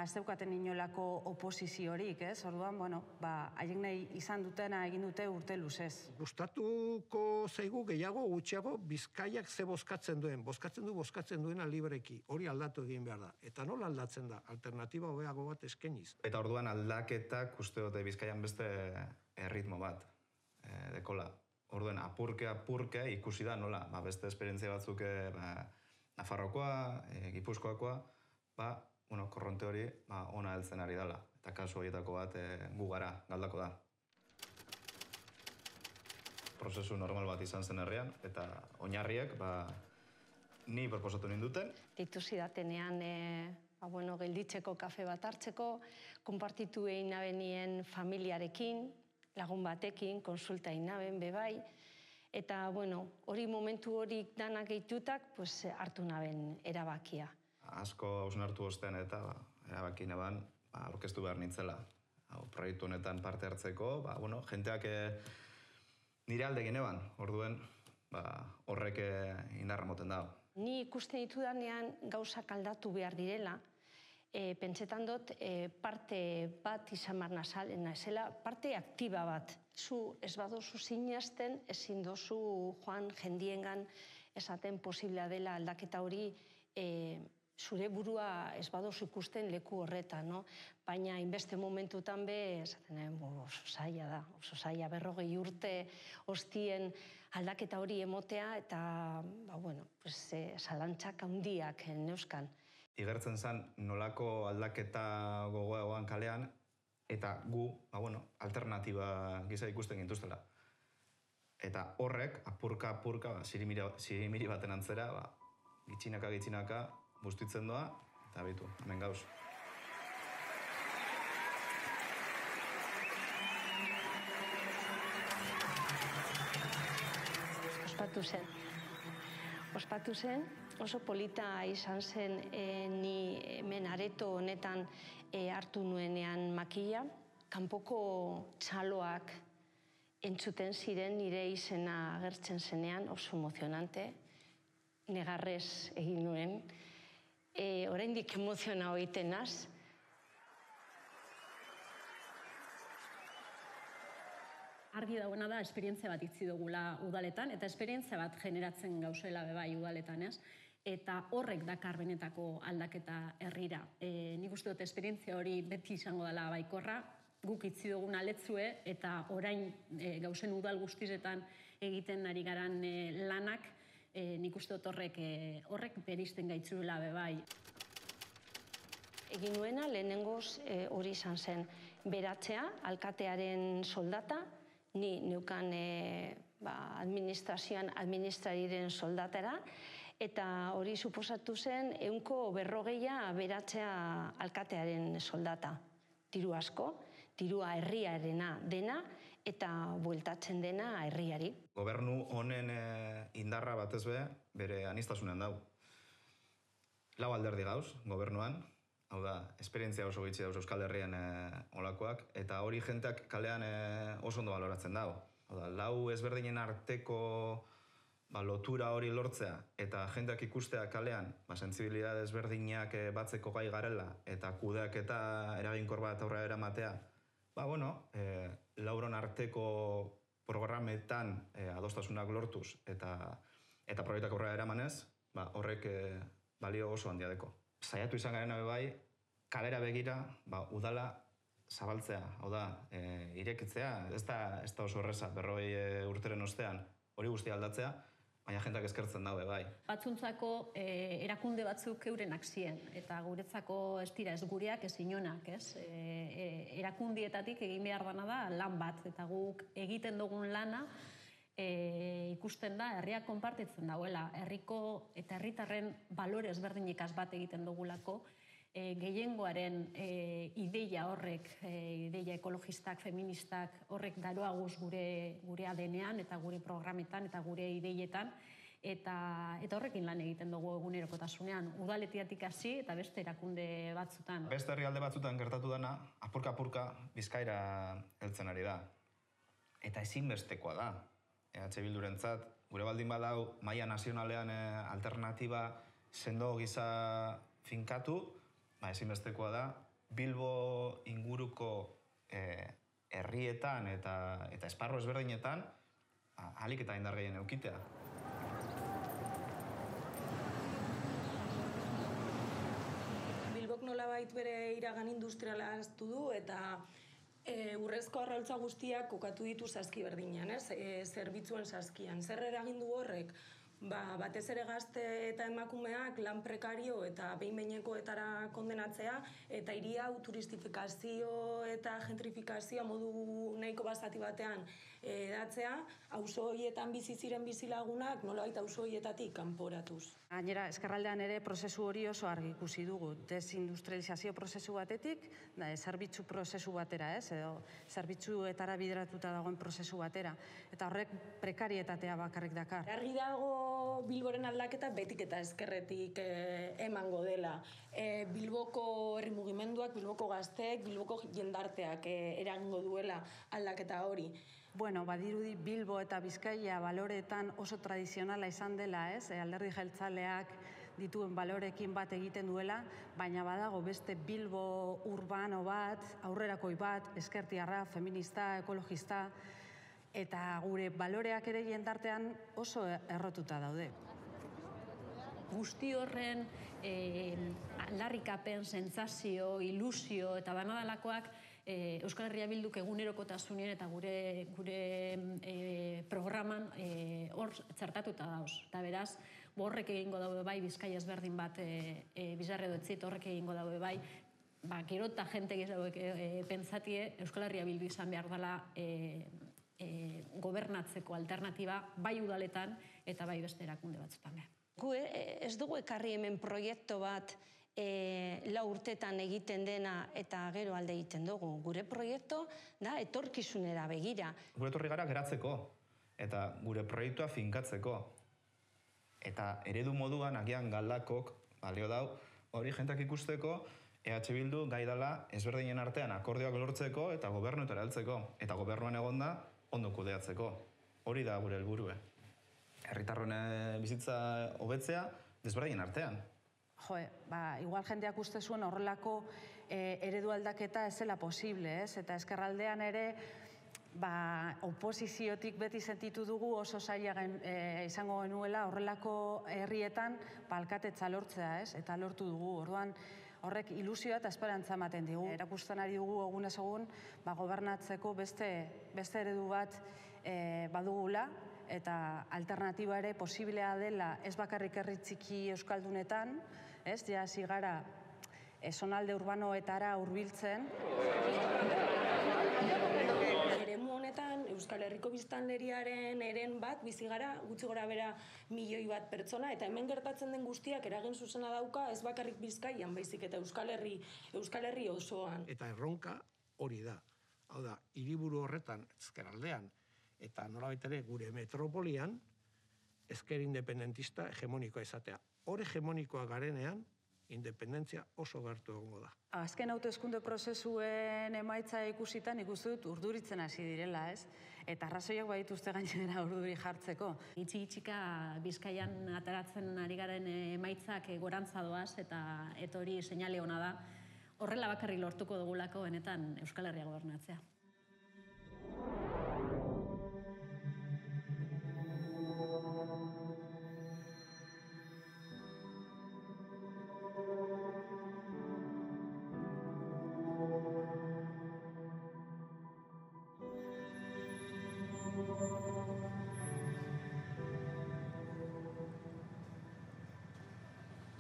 ez daukaten inolako oposiziorik, ez? Orduan, haien nahi izan dutena egin dute urte luzez. Gustatuko zaigu gehiago gutxiago Bizkaiak ze bozkatzen duena libreki. Hori aldatu egin behar da. Eta nola aldatzen da? Alternatiba hobeago bat eskeniz. Eta orduan aldaketak uste dute Bizkaian beste erritmo bat. Dekola. Orduan, apurke ikusi da nola. Beste esperientzia batzuk Nafarroakoa, Gipuzkoakoa, korronte hori ona heltzen ari dela. Eta kasu horietako bat gu gara, galdako da. Prozesu normal bat izan zen herrian, eta oinarriek ni proposatu ninduten. Ditu zidatenean gelditzeko kafe bat hartzeko, konpartitu egin nabenien familiarekin, lagun batekin, konsulta inaben, bebai, eta, hori momentu horik danak gehitutak, hartu naben erabakia. Asko hausen hartu ostean eta erabaki naban, aurkeztu behar nintzela. Proiektu honetan parte hartzeko, jenteak nire alde gineban, orduen, horrek indarra moten dago. Ni ikusten ditudanean gauzak aldatu behar direla, pentsetan dut parte bat izan barna zela, parte aktiba bat. Zu ez badozu sinazten, ezin dozu joan jendiengan esaten posiblea dela aldaketa hori zure burua ez badozu ikusten leku horretan, baina inbeste momentutan esaten oso zaila da, oso zaila 40 urte hostien aldaketa hori emotea eta, zalantzak handiak neuzkan. Igertzen zen nolako aldaketa gogoagoan kalean, eta gu, alternatiba gisa ikusten gintuztela. Eta horrek, apurka, zirimiri baten antzera, gitxinaka, bustitzen doa, eta bitu, hemen gauz. Ospatu zen, oso polita izan zen ni hemen areto honetan hartu nuenean makila. Kanpoko txaloak entzuten ziren nire izena agertzen zenean, oso emozionante. Negarrez egin nuen. Oraindik emoziona egiten naz. Argi dagoena da, esperientzia bat itzi dugula udaletan, eta esperientzia bat generatzen gauzela bebai udaletan, ez? Eta horrek dakar benetako aldaketa herrira. Nik uste dut esperientzia hori beti izango dela baikorra, guk itzi dugun aletzue, eta orain gauzen udal guztizetan egiten ari garan lanak, nik uste dut horrek beristen gaitzuela bebai. Egin nuena lehenengoz hori izan zen beratzea, alkatearen soldata, ni neukan administrazioan administrariren soldatara, eta hori suposatu zen 140 beratzea alkatearen soldata. diru asko, dirua herriarena dena, eta bueltatzen dena herriari. Gobernu honen indarra batez bere anistasunean dau. Lau alderdi gauz, gobernuan, hau da, esperientzia oso gitxi dauz Euskal Herrian olakoak, eta hori jenteak kalean oso ondo baloratzen dau. Hau da, lau ezberdinen arteko lotura hori lortzea, eta jenteak ikustea kalean, sentzibilidade ezberdinak batzeko gai garela, eta kudeak eta eraginkor bat aurrera eramatea, lauron arteko programetan adostasunak lortuz eta proiektak aurrera eramanez, horrek balio oso handia deko. Saiatu izan garen bai, kalera begira, udala zabaltzea, hau da, irekitzea, ez da oso erreza, 40 urteren ostean hori guztia aldatzea, baina jentak eskertzen daue bai. Batzuntzako erakunde batzuk eurenak ziren, eta guretzako ez dira ez gureak ez inonak, ez? Erakundietatik egin behar dana da lan bat, eta guk egiten dugun lana ikusten da herriak konpartitzen dauela, herriko eta herritarren balore ezberdinikaz bat egiten dugulako, gehiengoaren ideia horrek, ideia ekologistak, feministak, horrek daroaguz gure ADN-ean eta gure programetan eta gure ideietan, eta horrekin lan egiten dugu egunerokotasunean, udaletiatik hasi eta beste erakunde batzutan. Beste herrialde batzutan gertatu dana, apurka-apurka Bizkaira heltzen ari da. Eta ezinbestekoa da. EH Bildurentzat, gure baldin badau, maila nazionalean alternatiba sendo gisa finkatu, ezinbestekoa da, Bilbo inguruko herrietan eta esparru ezberdinetan ahalik eta indar gehien eukitea. Bilbok nolabait bere iragan industriala aztu du eta urrezko arraultza guztiak kokatu ditu saski berdinean, zerbitzuen saskian. Zer eragindu horrek? Batez ere gazte eta emakumeak lan prekario eta behin-behinekoetara kondenatzea, eta hiri hau turistifikazio eta gentrifikazioa modu nahiko basati batean edatzea, auzo horietan bizi ziren bizilagunak nolabait auzo horietatik kanporatuz. Gainera, ezkerraldean ere prozesu hori oso argi ikusi dugu. Desindustrializazio prozesu batetik, zerbitzu prozesu batera, edo zerbitzuetara bideratuta dagoen prozesu batera. Eta horrek prekarietatea bakarrik dakar. Argi dago Bilboren aldaketa betik eta ezkerretik emango dela. Bilboko herri mugimenduak, Bilboko gazteek, Bilboko jendarteak eragingo duela aldaketa hori. Bueno, badirudi Bilbo eta Bizkaia baloreetan oso tradizionala izan dela, alderdi jeltzaleak dituen balorekin bat egiten duela, baina badago beste Bilbo urbano bat, aurrerakoi bat, ezkertiarra, feminista, ekologista, eta gure baloreak ere jendartean oso errotuta daude. Guzti horren aldarrikapen, sentsazio, ilusio eta danadalakoak Euskal Herria Bilduk egunerokotasunean eta gure programan hor txertatuta dauz. Eta beraz, horrek egingo daue bai, Bizkaia ezberdin bat bizarre dotzit, horrek egingo daue bai, gero eta jente gizauek pentsatie Euskal Herria Bildu izan behar dela gobernatzeko alternatiba bai udaletan eta bai beste erakunde batzutan behar. Gu ez dugu ekarri hemen proiektu bat 4 urtetan egiten dena eta gero alde egiten dugu. Gure proiektu da etorkizunera begira. Gure etorri gara geratzeko eta gure proiektua finkatzeko. Eta eredu moduan agian galdakok balio dau hori jentak ikusteko EH Bildu gai dela ezberdinen artean akordioak lortzeko eta gobernuetara heltzeko. Eta gobernuan egonda ondo kudeatzeko. Hori da gure helburue. Herritarron bizitza hobetzea desberdinen artean. Igual jendeak uste zuen horrelako eredu aldaketa ez zela posible, eta ezkerraldean ere oposiziotik beti sentitu dugu oso zaila izango genuela horrelako herrietan alkatetza lortzea, eta lortu dugu. Orduan horrek ilusioa eta esperantza ematen digu. Erakusten ari dugu egunez egun gobernatzeko beste eredu bat badugula, eta alternatiba ere posiblea dela ez bakarrik herri txiki euskaldunetan, ja hasi gara zonalde urbanoetara hurbiltzen. Eremu honetan Euskal Euskal Herriko biztanleriaren eren bat, bizi gara, gutxi gora bera 1 milioi bat pertsona, eta hemen gertatzen den guztiak eragin zuzena dauka, ez bakarrik Bizkaian, baizik eta Euskal Herri osoan. Eta erronka hori da. Hau da, hiriburu horretan, ezkerraldean, eta nolabait ere gure metropolian, ezker independentista hegemonikoa izatea. Hor hegemonikoa garenean, independentzia oso gertu egongo da. Azken hauteskunde prozesuen emaitza ikusitan ikusi dut urduritzen hasi direla, ez? Eta arrazoiak badituzte gainera urduri jartzeko. Itxika Bizkaian ateratzen ari garen emaitzak gorantza doaz eta hori seinale ona da. Horrela bakarrik lortuko dugulako benetan Euskal Herria gobernatzea.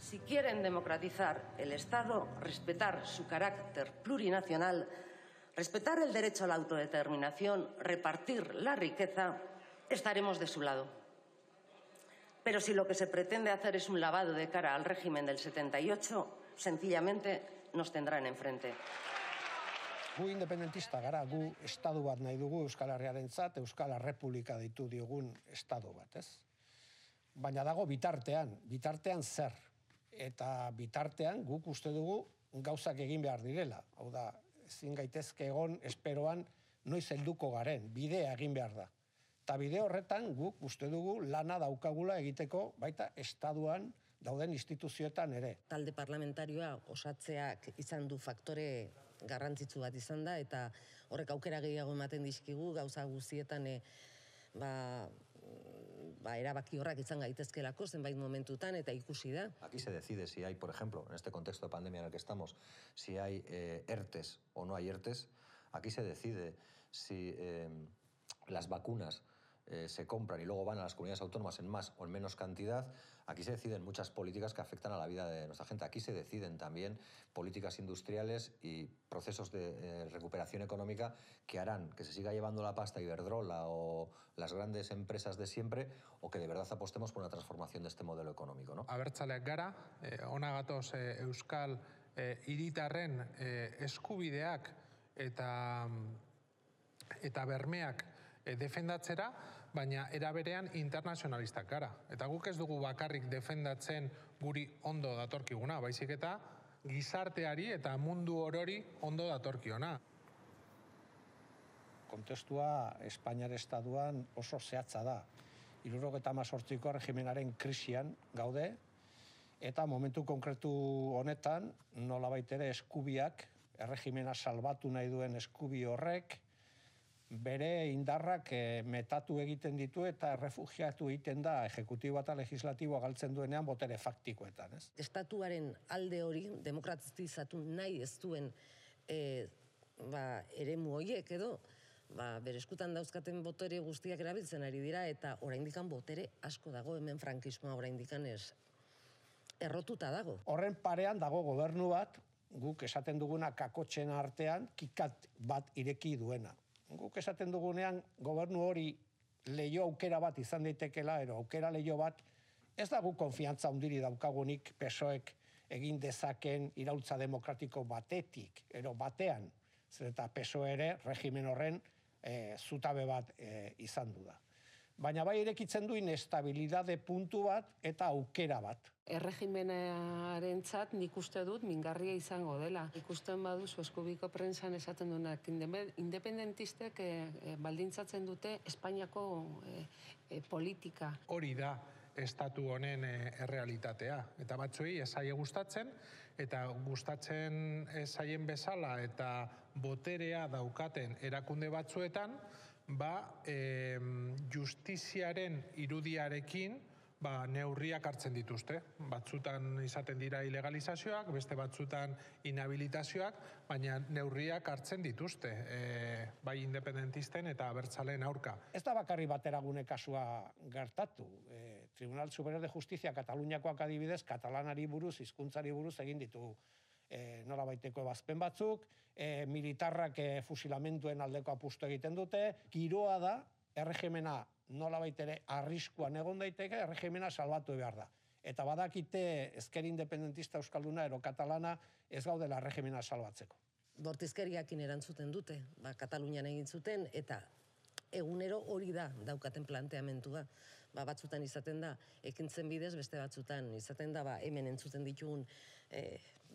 Si quieren democratizar el Estado, respetar su carácter plurinacional, respetar el derecho a la autodeterminación, repartir la riqueza, estaremos de su lado. Pero si lo que se pretende hacer es un lavado de cara al régimen del 78, sencillamente nos tendrán enfrente. Gu independentista gara, gu estadu bat nahi dugu Euskal Herriarentzat, Euskal Errepublika deitu diogun estadu bat, ez? Baina dago bitartean zer? Eta bitartean guk uste dugu gauzak egin behar direla. Hau da, ezin gaitezke egon esperoan noiz helduko garen, bidea egin behar da. Eta bide horretan guk uste dugu lana daukagula egiteko baita estaduan dauden instituzioetan ere. Talde parlamentarioa osatzeak izan du faktore garrantzitsu bat izan da, eta horrek aukera gehiago ematen dizkigu gauza guztietan erabaki horrak izan gaitezkelako zenbait momentutan eta ikusi da. Aquí se decide si hay, por ejemplo, en este contexto de pandemia en el que estamos, si hay ERTES o no hay ERTES. Aquí se decide si las vacunas se compran y luego van a las comunidades autónomas en más o en menos cantidad. Aquí se deciden muchas políticas que afectan a la vida de nuestra gente. Aquí se deciden también políticas industriales y procesos de recuperación económica que harán que se siga llevando la pasta Iberdrola o las grandes empresas de siempre, o que de verdad apostemos por una transformación de este modelo económico, ¿no? Abertzaleak gara, hona gatoz Euskal hiritarren eskubideak eta bermeak defendatzera, baina era berean internazionalistak gara. Eta guk ez dugu bakarrik defendatzen guri ondo datorkiguna, baizik eta gizarteari eta mundu orori ondo datorkiona. Kontestua Espainiar Estatuan oso zehatza da. 1978ko regimenaren krisian gaude, eta momentu konkretu honetan nolabait ere eskubiak, erregimena salbatu nahi duen eskubi horrek, bere indarrak metatu egiten ditu eta errefugiatu egiten da ejekutibo eta legislatiboa galtzen duenean botere faktikoetan, ez? Estatuaren alde hori demokratizatu nahi ez duen eremu horiek edo, bere eskutan dauzkaten botere guztiak erabiltzen ari dira, eta oraindikan botere asko dago, hemen frankismoa oraindikan errotuta dago. Horren parean dago gobernu bat, guk esaten duguna kakotxen artean, kikat bat ireki duena. Guk esaten dugunean gobernu hori leio aukera bat izan daitekela, ero aukera leio bat, ez dago konfiantza hundiri daukagunik PSOEk egin dezaken iraultza demokratiko batetik, ero batean, zer eta PSOE ere regimen horren zutabe bat izan du da. Baina bai irekitzen du inestabilidade puntu bat eta aukera bat. Erregimenarentzat nik uste dut mingarria izango dela. Ikusten baduzu eskubiko prentsan esaten duenak, independentistek baldintzatzen dute Espainiako politika. Hori da estatu honen errealitatea. Eta batzuei esaie gustatzen, eta gustatzen esaien bezala eta boterea daukaten erakunde batzuetan, justiziaren irudiarekin neurriak hartzen dituzte. Batzutan izaten dira ilegalizazioak, beste batzutan inhabilitazioak, baina neurriak hartzen dituzte, bai independentisten eta abertzaleen aurka. Ez da bakarri bateragune kasua gertatu. Tribunal Superior de Justizia Kataluniakoak adibidez, katalanari buruz, hizkuntzari buruz egin ditu nolabaiteko ebazpen batzuk, militarrak fusilamentuen aldeko apustu egiten dute, giroa da, erregimena nolabait ere arriskuan egon daiteke, erregimena salbatu behar da. Eta badakite ezker independentista euskalduna ero katalana ez gaudela erregimena salbatzeko. Bortizkeriakin erantzuten dute, Katalunian egin zuten, eta egunero hori da daukaten planteamentua. Batzutan izaten da, ekintzen bidez, beste batzutan izaten da, hemen entzuten ditugun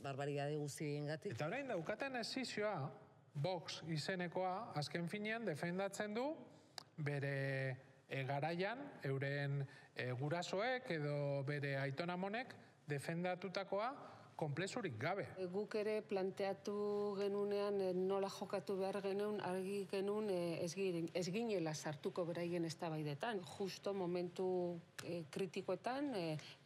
barbaridade guztiengatik. Eta orain daukaten esizioa, Vox izenekoa, azken finean defendatzen du bere garaian, euren gurasoek edo bere aitonamonek defendatutakoa konplexurik gabe. Guk ere planteatu genunean nola jokatu behar genuen, argi genuen ez ginela sartuko beraien eztabaidetan. Justo momentu kritikoetan,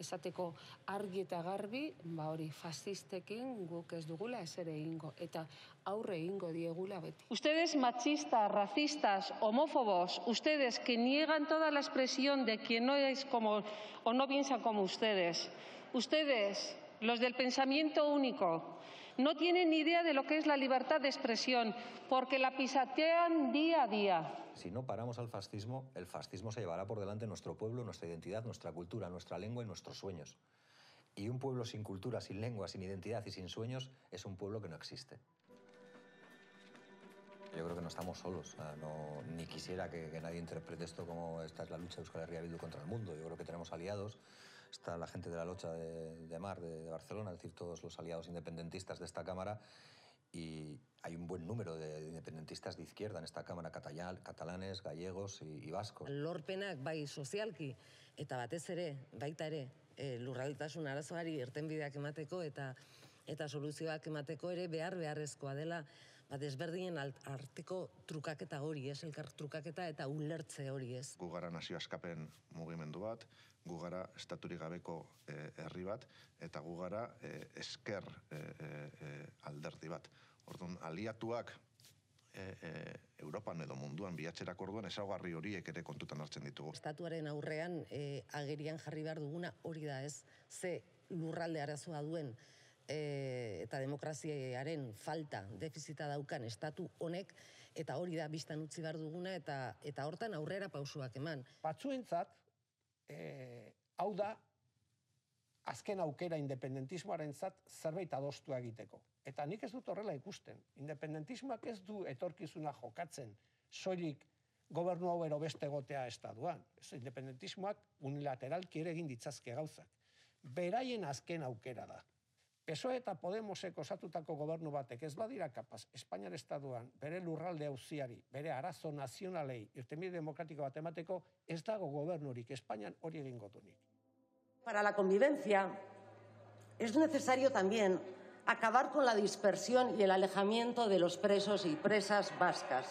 esateko argi eta garbi, hori fascistekin guk ez dugula ez ere egingo, eta aurre egingo diegula beti. Ustedes machistas, racistas, homófobos, ustedes que niegan toda la expresión de quien no es como o no piensa como ustedes, los del pensamiento único, no tienen ni idea de lo que es la libertad de expresión, porque la pisotean día a día. Si no paramos al fascismo, el fascismo se llevará por delante nuestro pueblo, nuestra identidad, nuestra cultura, nuestra lengua y nuestros sueños. Y un pueblo sin cultura, sin lengua, sin identidad y sin sueños es un pueblo que no existe. Yo creo que no estamos solos, ni quisiera que nadie interprete esto como esta es la lucha de Euskal Herria Bildu contra el mundo. Yo creo que tenemos aliados. Está la gente de la Locha de Mar, de Barcelona, es decir, todos los aliados independentistas de esta Cámara, y hay un buen número de independentistas de izquierda en esta Cámara, catalanes, gallegos y vascos. Lorpenak bai sozialki, eta batez ere, baita ere, lurraldetasun arazoari irtenbideak emateko eta soluzioak emateko ere beharrezkoa dela, desberdinen arteko trukaketa hori, elkar trukaketa eta ulertze hori ez. Gu gara nazio askapen mugimendu bat, gu gara estaturik gabeko herri bat, eta gu gara esker alderdi bat. Orduan, aliatuak Europan edo munduan bilatzerak orduan ezaugarri horiek ere kontutan hartzen ditugu. Estatuaren aurrean agerian jarri behar duguna hori da ez, ze lurralde arazoa duen eta demokraziaren falta, defizita daukan estatu honek, eta hori da biztan utzi behar duguna, eta hortan aurrera pausuak eman. Batzuentzat, hau da, azken aukera independentismoarentzat zerbait adostua egiteko. Eta nik ez dut horrela ikusten. Independentismoak ez du etorkizuna jokatzen, soilik gobernu hau ero beste egotea estatuan. Independentismoak unilateralki ere egin ditzazke gauzak. Beraien azken aukera da. PSOE eta Podemosek osatutako gobernu batek ez badira kapaz, Espainiar estatuan bere lurralde auziari, bere arazo nazionalei, irtenbide demokratiko bat emateko, ez dago gobernurik, Espainian hori egingo dunik. Para la convivencia es necesario también acabar con la dispersión y el alejamiento de los presos y presas vascas.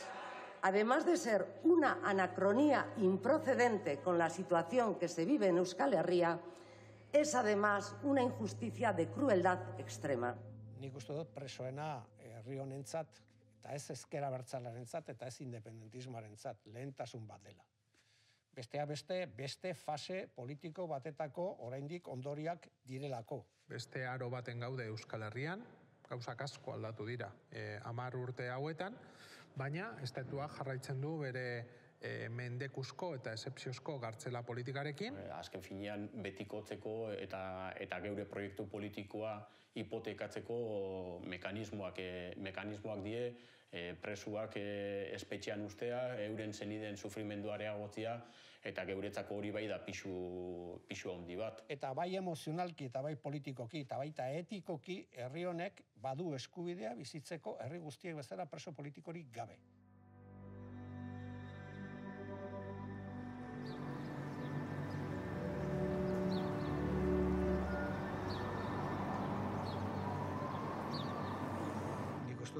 Además de ser una anacronía improcedente con la situación que se vive en Euskal Herria, es además una injusticia de crueldad extrema. Nik uste dut presoena herri honentzat, eta ez ezker abertzalearentzat, eta ez independentismoarentzat, lehentasun bat dela. Beste fase politiko batetako oraindik ondoriak direlako. Beste aro baten gaude Euskal Herrian, gauzak asko aldatu dira 10 urte hauetan, baina estatuak jarraitzen du bere mendekuzko eta esepziozko gartzela politikarekin. Azken finean betikotzeko eta geure proiektu politikoa hipotekatzeko mekanismoak die, presuak espetxean ustea, euren zeniden sufrimendu areagotzea, eta geuretzako hori bai da pisu handi bat. Eta bai emozionalki eta bai politikoki eta baita etikoki herri honek badu eskubidea bizitzeko herri guztiek bezala preso politikorik gabe.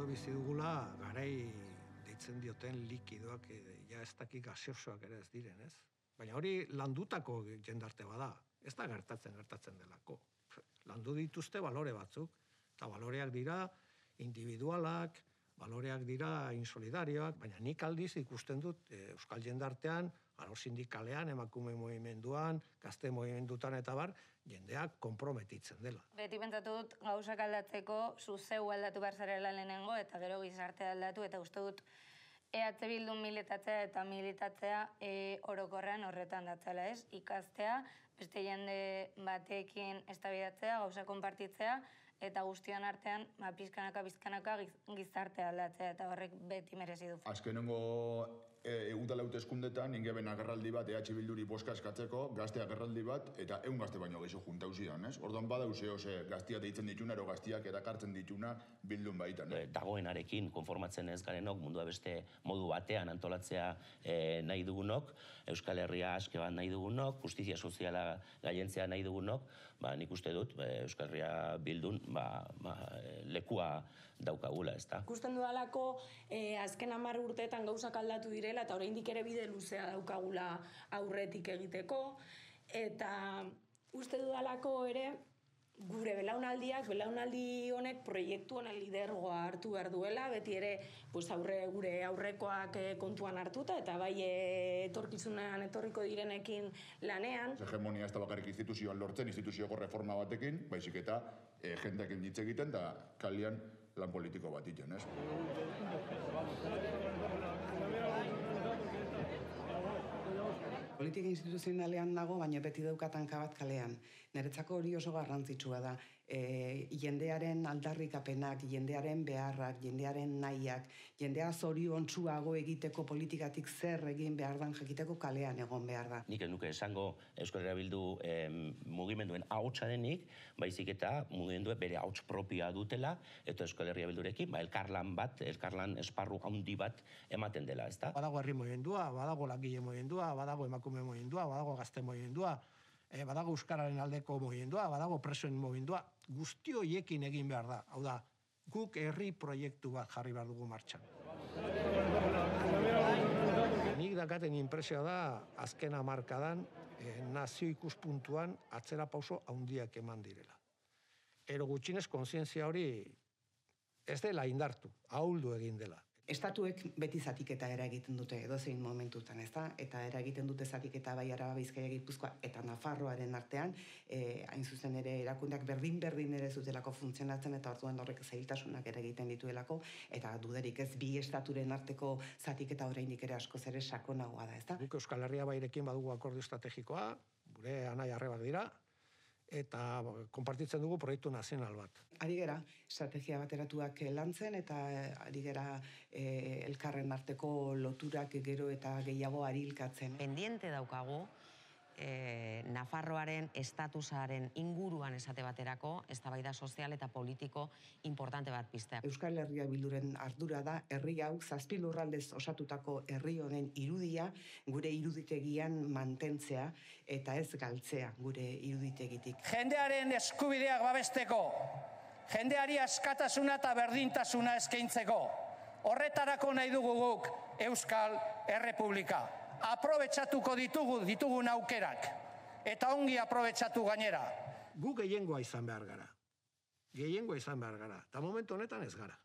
Bizi dugula garai deitzen dioten likidoak ja ez dakik gaseosoak ere ez diren, ez? Baina hori landutako jendarte bada, ez da gertatzen delako. Landu dituzte balore batzuk, eta baloreak dira individualak, baloreak dira insolidarioak, baina nik aldiz ikusten dut euskal jendartean, alor sindikalean, emakume movimenduan, gazte movimendutan eta bar, jendeak konprometitzen dela. Beti pentsatu dut gauzak aldatzeko zuzeu aldatu behar zarela lehenengo eta gero gizartea aldatu eta uste dut EH Bildun militatzea eta militatzea orokorrean horretan datzela, ez? Ikastea, beste jende batekin eztabaidatzea, gauza konpartitzea, eta guztion artean pizkanaka gizartea aldatzea, eta horrek beti merezi du. Azkenengo udala hauteskundetan ingeben agerraldi bat EH Bilduri boska eskatzeko, gazte agerraldi bat, eta 100 gazte baino gehiago juntau zidan, ez? Orduan badauze, gaztiak deitzen dituna, ero gaztiak erakartzen dituna Bildun baitan. Dagoenarekin konformatzen ez garenok, mundua beste modu batean antolatzea nahi dugunok, Euskal Herria aske bat nahi dugunok, justizia soziala gaientzea nahi dugunok, nik uste dut Euskal Herria Bildun lekua daukagula, ez da? Ikusten dudalako azken 10 urteetan gauzak aldatu direla eta oraindik ere bide luzea daukagula aurretik egiteko, eta uste dudalako ere gure belaunaldi honek proiektu honen lidergoa hartu behar duela, beti ere gure aurrekoak kontuan hartuta eta bai etorkizunean etorriko direnekin lanean. Hegemonia ez da bakarrik instituzioan lortzen, instituzioko reforma batekin, baizik eta jendeak hitz egiten da kalian lan politiko bat iten, ez? Politika instituzionalean nago, baina beti daukat hanka bat kalean. Niretzako hori oso garrantzitsua da. Jendearen aldarrikapenak, jendearen beharrak, jendearen nahiak, jendea zoriontsuago egiteko politikatik zer egin behar dan jakiteko kalean egon behar da. Nik ez nuke esango Euskal Herria Bildu mugimenduen ahotsa denik, baizik eta mugimenduen bere ahots propioa dutela, eta Euskal Herria Bildurekin elkarlan esparru handi bat ematen dela, ez da? Badago herri mugimendua, badago langile mugimendua, badago emakume mugimendua, badago gazte mugimendua, badago euskararen aldeko mugimendua, badago presoen mugimendua, guzti horiekin egin behar da. Hau da, guk herri proiektu bat jarri behar dugu martxan. Nik dakaten inpresioa da, azken hamarkadan, nazio ikuspuntuan atzera pauso handiak eman direla. Ero gutxinez kontzientzia hori ez dela indartu, ahuldu egin dela. Estatuek beti zatiketa eragiten dute edozein momentutan, ez da? Eta eragiten dute zatiketa bai Araba, Bizkaia, Gipuzkoa eta Nafarroaren artean, hain zuzen ere erakundeak berdin ere zutelako funtzionatzen eta orduan horrek zailtasunak eragiten dituelako, eta duderik ez bi estaturen arteko zatiketa oraindik ere askoz ere sakonagoa da, ez da? Guk Euskal Herria Bairekin badugu akordio estrategikoa, gure anai arrebak dira, eta konpartitzen dugu proiektu nazional bat. Ari gera, estrategia bateratuak lantzen eta ari gera elkarren arteko loturak gero eta gehiago arilkatzen. Pendiente daukagu, Nafarroaren estatusaren inguruan esate baterako, eztabaida sozial eta politiko importante bat piztea. Euskal Herria Bilduren ardura da, herri hau 7 lurraldez osatutako herri honen irudia, gure iruditegian mantentzea eta ez galtzea gure iruditegitik. Jendearen eskubideak babesteko, jendeari askatasuna eta berdintasuna eskaintzeko, horretarako nahi dugu guk Euskal Errepublika. Aprobetxatuko ditugun aukerak, eta ongi aprobetxatu gainera. Gu gehiengoa izan behar gara. Gehiengoa izan behar gara, eta momentu honetan ez gara.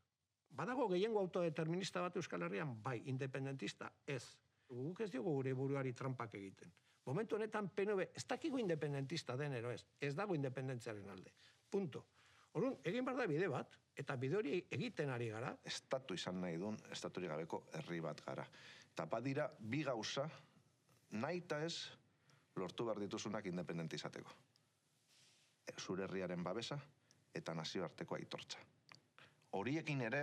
Badago gehiengo autodeterminista bat Euskal Herrian, bai, independentista, ez. Guk ez diogu gure buruari trampak egiten. Momentu honetan PNV ez dakigu independentista den ero ez, ez dago independentziaren alde. Punto. Orduan, egin behar da bide bat, eta bide hori egiten ari gara. Estatu izan nahi duen, estaturik gabeko herri bat gara. Eta badira, bi gauza, nahi eta ez, lortu behar dituzunak independentizateko. Zure herriaren babesa eta nazioarteko aitortza. Horiekin ere,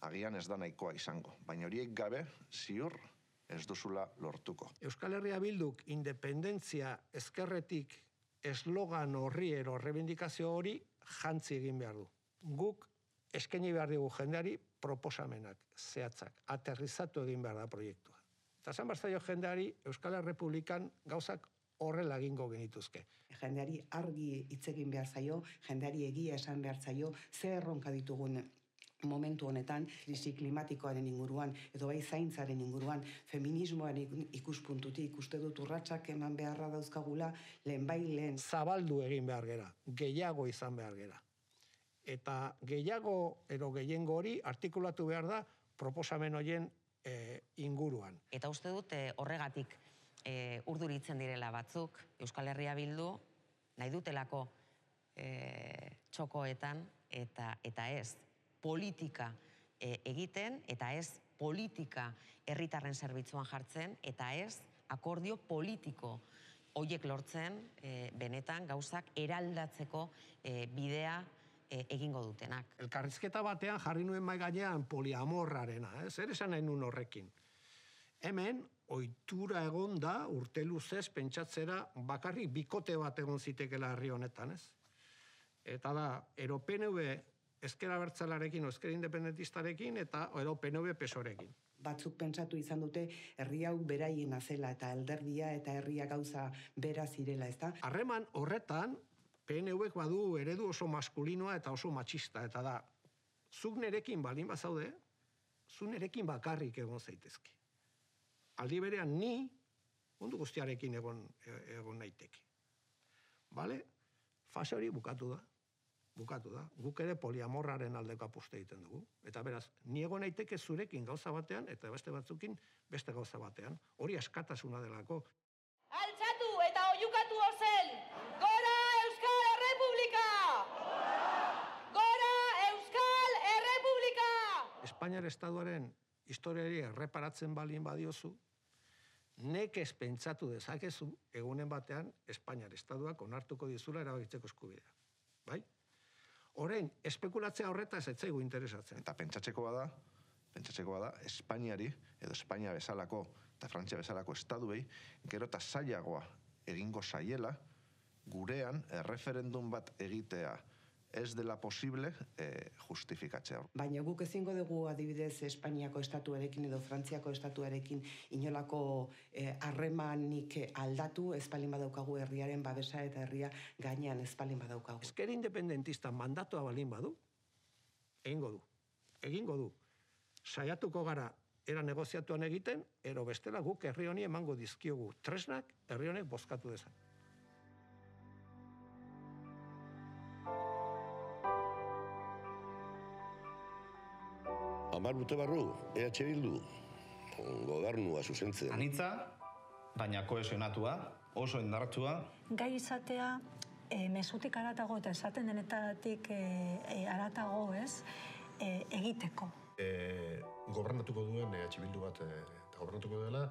agian ez da nahikoa izango, baina horiek gabe, ziur, ez duzula lortuko. Euskal Herria Bilduk independentzia ezkerretik eslogan horri ero rebindikazio hori jantzi egin behar du. Guk eskaini behar dugu jendeari proposamenak, zehatzak, aterrizatu egin behar da proiektua. Eta esan behar zaio jendeari Euskal Errepublikan gauzak horrela egingo genituzke. Jendeari argi hitz egin behar zaio, jendeari egia esan behar zaio, ze erronka ditugun momentu honetan, krisi klimatikoaren inguruan, edo bai zaintzaren inguruan, feminismoaren ikuspuntutik, uste dut urratsak eman beharra dauzkagula, lehen. Zabaldu egin behar gera, gehiago izan behar gera. eta gehiago edo gehiengo hori artikulatu behar da proposamen horien inguruan. Eta uste dut horregatik urduritzen direla batzuk, Euskal Herria Bildu nahi dutelako txokoetan eta ez politika egiten, eta ez politika herritarren zerbitzuan jartzen, eta ez akordio politiko horiek lortzen benetan gauzak eraldatzeko bidea egingo dutenak. Elkarrizketa batean jarri nuen mai gainean poliamorrarena, zer esan nahi nuen horrekin. Hemen, ohitura egon da urte luzez pentsatzera bakarrik bikote bat egon zitekela herri honetan, ez? Eta da, ero PNV ezker abertzalarekin o ezker independentistarekin eta ero PNV PSOErekin. Batzuk pentsatu izan dute herri hau beraiena zela eta alderdia eta herria gauza bera zirela, ezta? Harreman horretan, PNVek badu eredu oso maskulinoa eta oso matxista, eta da, zuk nerekin baldin bazaude, zuk nerekin bakarrik egon zaitezke. Aldi berean ni, mundu guztiarekin egon naiteke. Bale? Fase hori bukatu da. Guk ere poliamorraren aldeko apuste egiten dugu. Eta beraz, ni egon naiteke zurekin gauza batean, eta beste batzukin beste gauza batean. Hori askatasuna delako. Altxatu eta oiukatu ozen! Gora Euskal Errepublika! Gora Euskal Errepublika! Espainiar Estatuaren historiari erreparatzen balin badiozu, nekez pentsatu dezakezu egunen batean Espainiar Estatuak onartuko dizula erabakitzeko eskubidea. Bai? Orain, espekulatzea horretaz ez zaigu interesatzen. Eta pentsatzeko bada, Espainiari, edo Espainia bezalako, eta Frantzia bezalako estaduei, gero eta zailagoa egingo zaiela, gurean erreferendum bat egitea ez dela posible justifikatzea. Baina guk ezingo dugu adibidez Espainiako estatuarekin edo Frantziako estatuarekin inolako harremanik aldatu ez palin badaukagu herriaren babesa eta herria gainean ez palin badaukagu. Ezker independentista mandatua balin badu, egingo du. Saiatuko gara era negoziatuan egiten, ero bestela guk herri honi emango dizkiogu tresnak herri honek bozkatu dezan. Hamar urte barru, EH Bildu, gobernua zuzentzen. Anitza, baina kohesionatua, oso indartsua. Gai izatea, mezutik aratago eta esaten denetatik aratago, ez, egiteko. Gobernatuko duen EH Bildu bat, eta gobernatuko dela,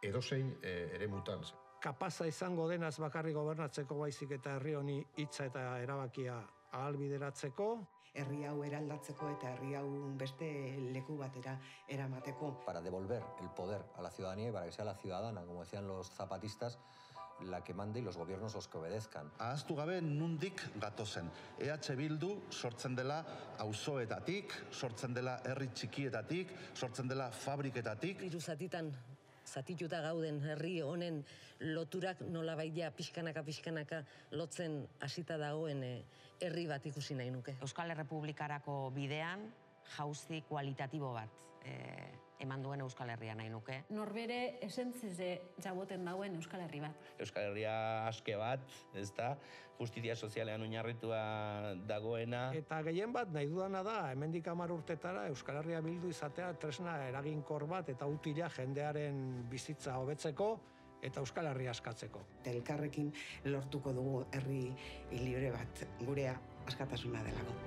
edozein ere mutan. Kapaza izango denaz bakarri gobernatzeko baizik eta herri honi hitza eta erabakia ahalbideratzeko, herri hau eraldatzeko eta herri hau beste leku batera eramateko. Para devolver el poder a la ciudadanía y para que sea la ciudadana, como decían los zapatistas, la que mande y los gobiernos los que obedezcan. Ahaztu gabe nundik gatozen. EH Bildu sortzen dela auzoetatik, sortzen dela herri txikietatik, sortzen dela fabriketatik. Hiru zatitan zatituta gauden herri honen loturak nolabait ja pixkanaka lotzen hasita dagoen herri bat ikusi nahi nuke. Euskal Errepublikarako bidean jauzi kualitatibo bat eman duen Euskal Herria nahi nuke. Norbere esentzize jaboten dauen Euskal Herri bat. Euskal Herria aske bat, ez da, justizia sozialean oinarritua dagoena. Eta gehien bat nahi dudana da, hemendik 10 urtetara Euskal Herria Bildu izatea tresna eraginkor bat eta utila jendearen bizitza hobetzeko eta Euskal Herria askatzeko. Elkarrekin lortuko dugu herri libre bat, gurea askatasuna delako.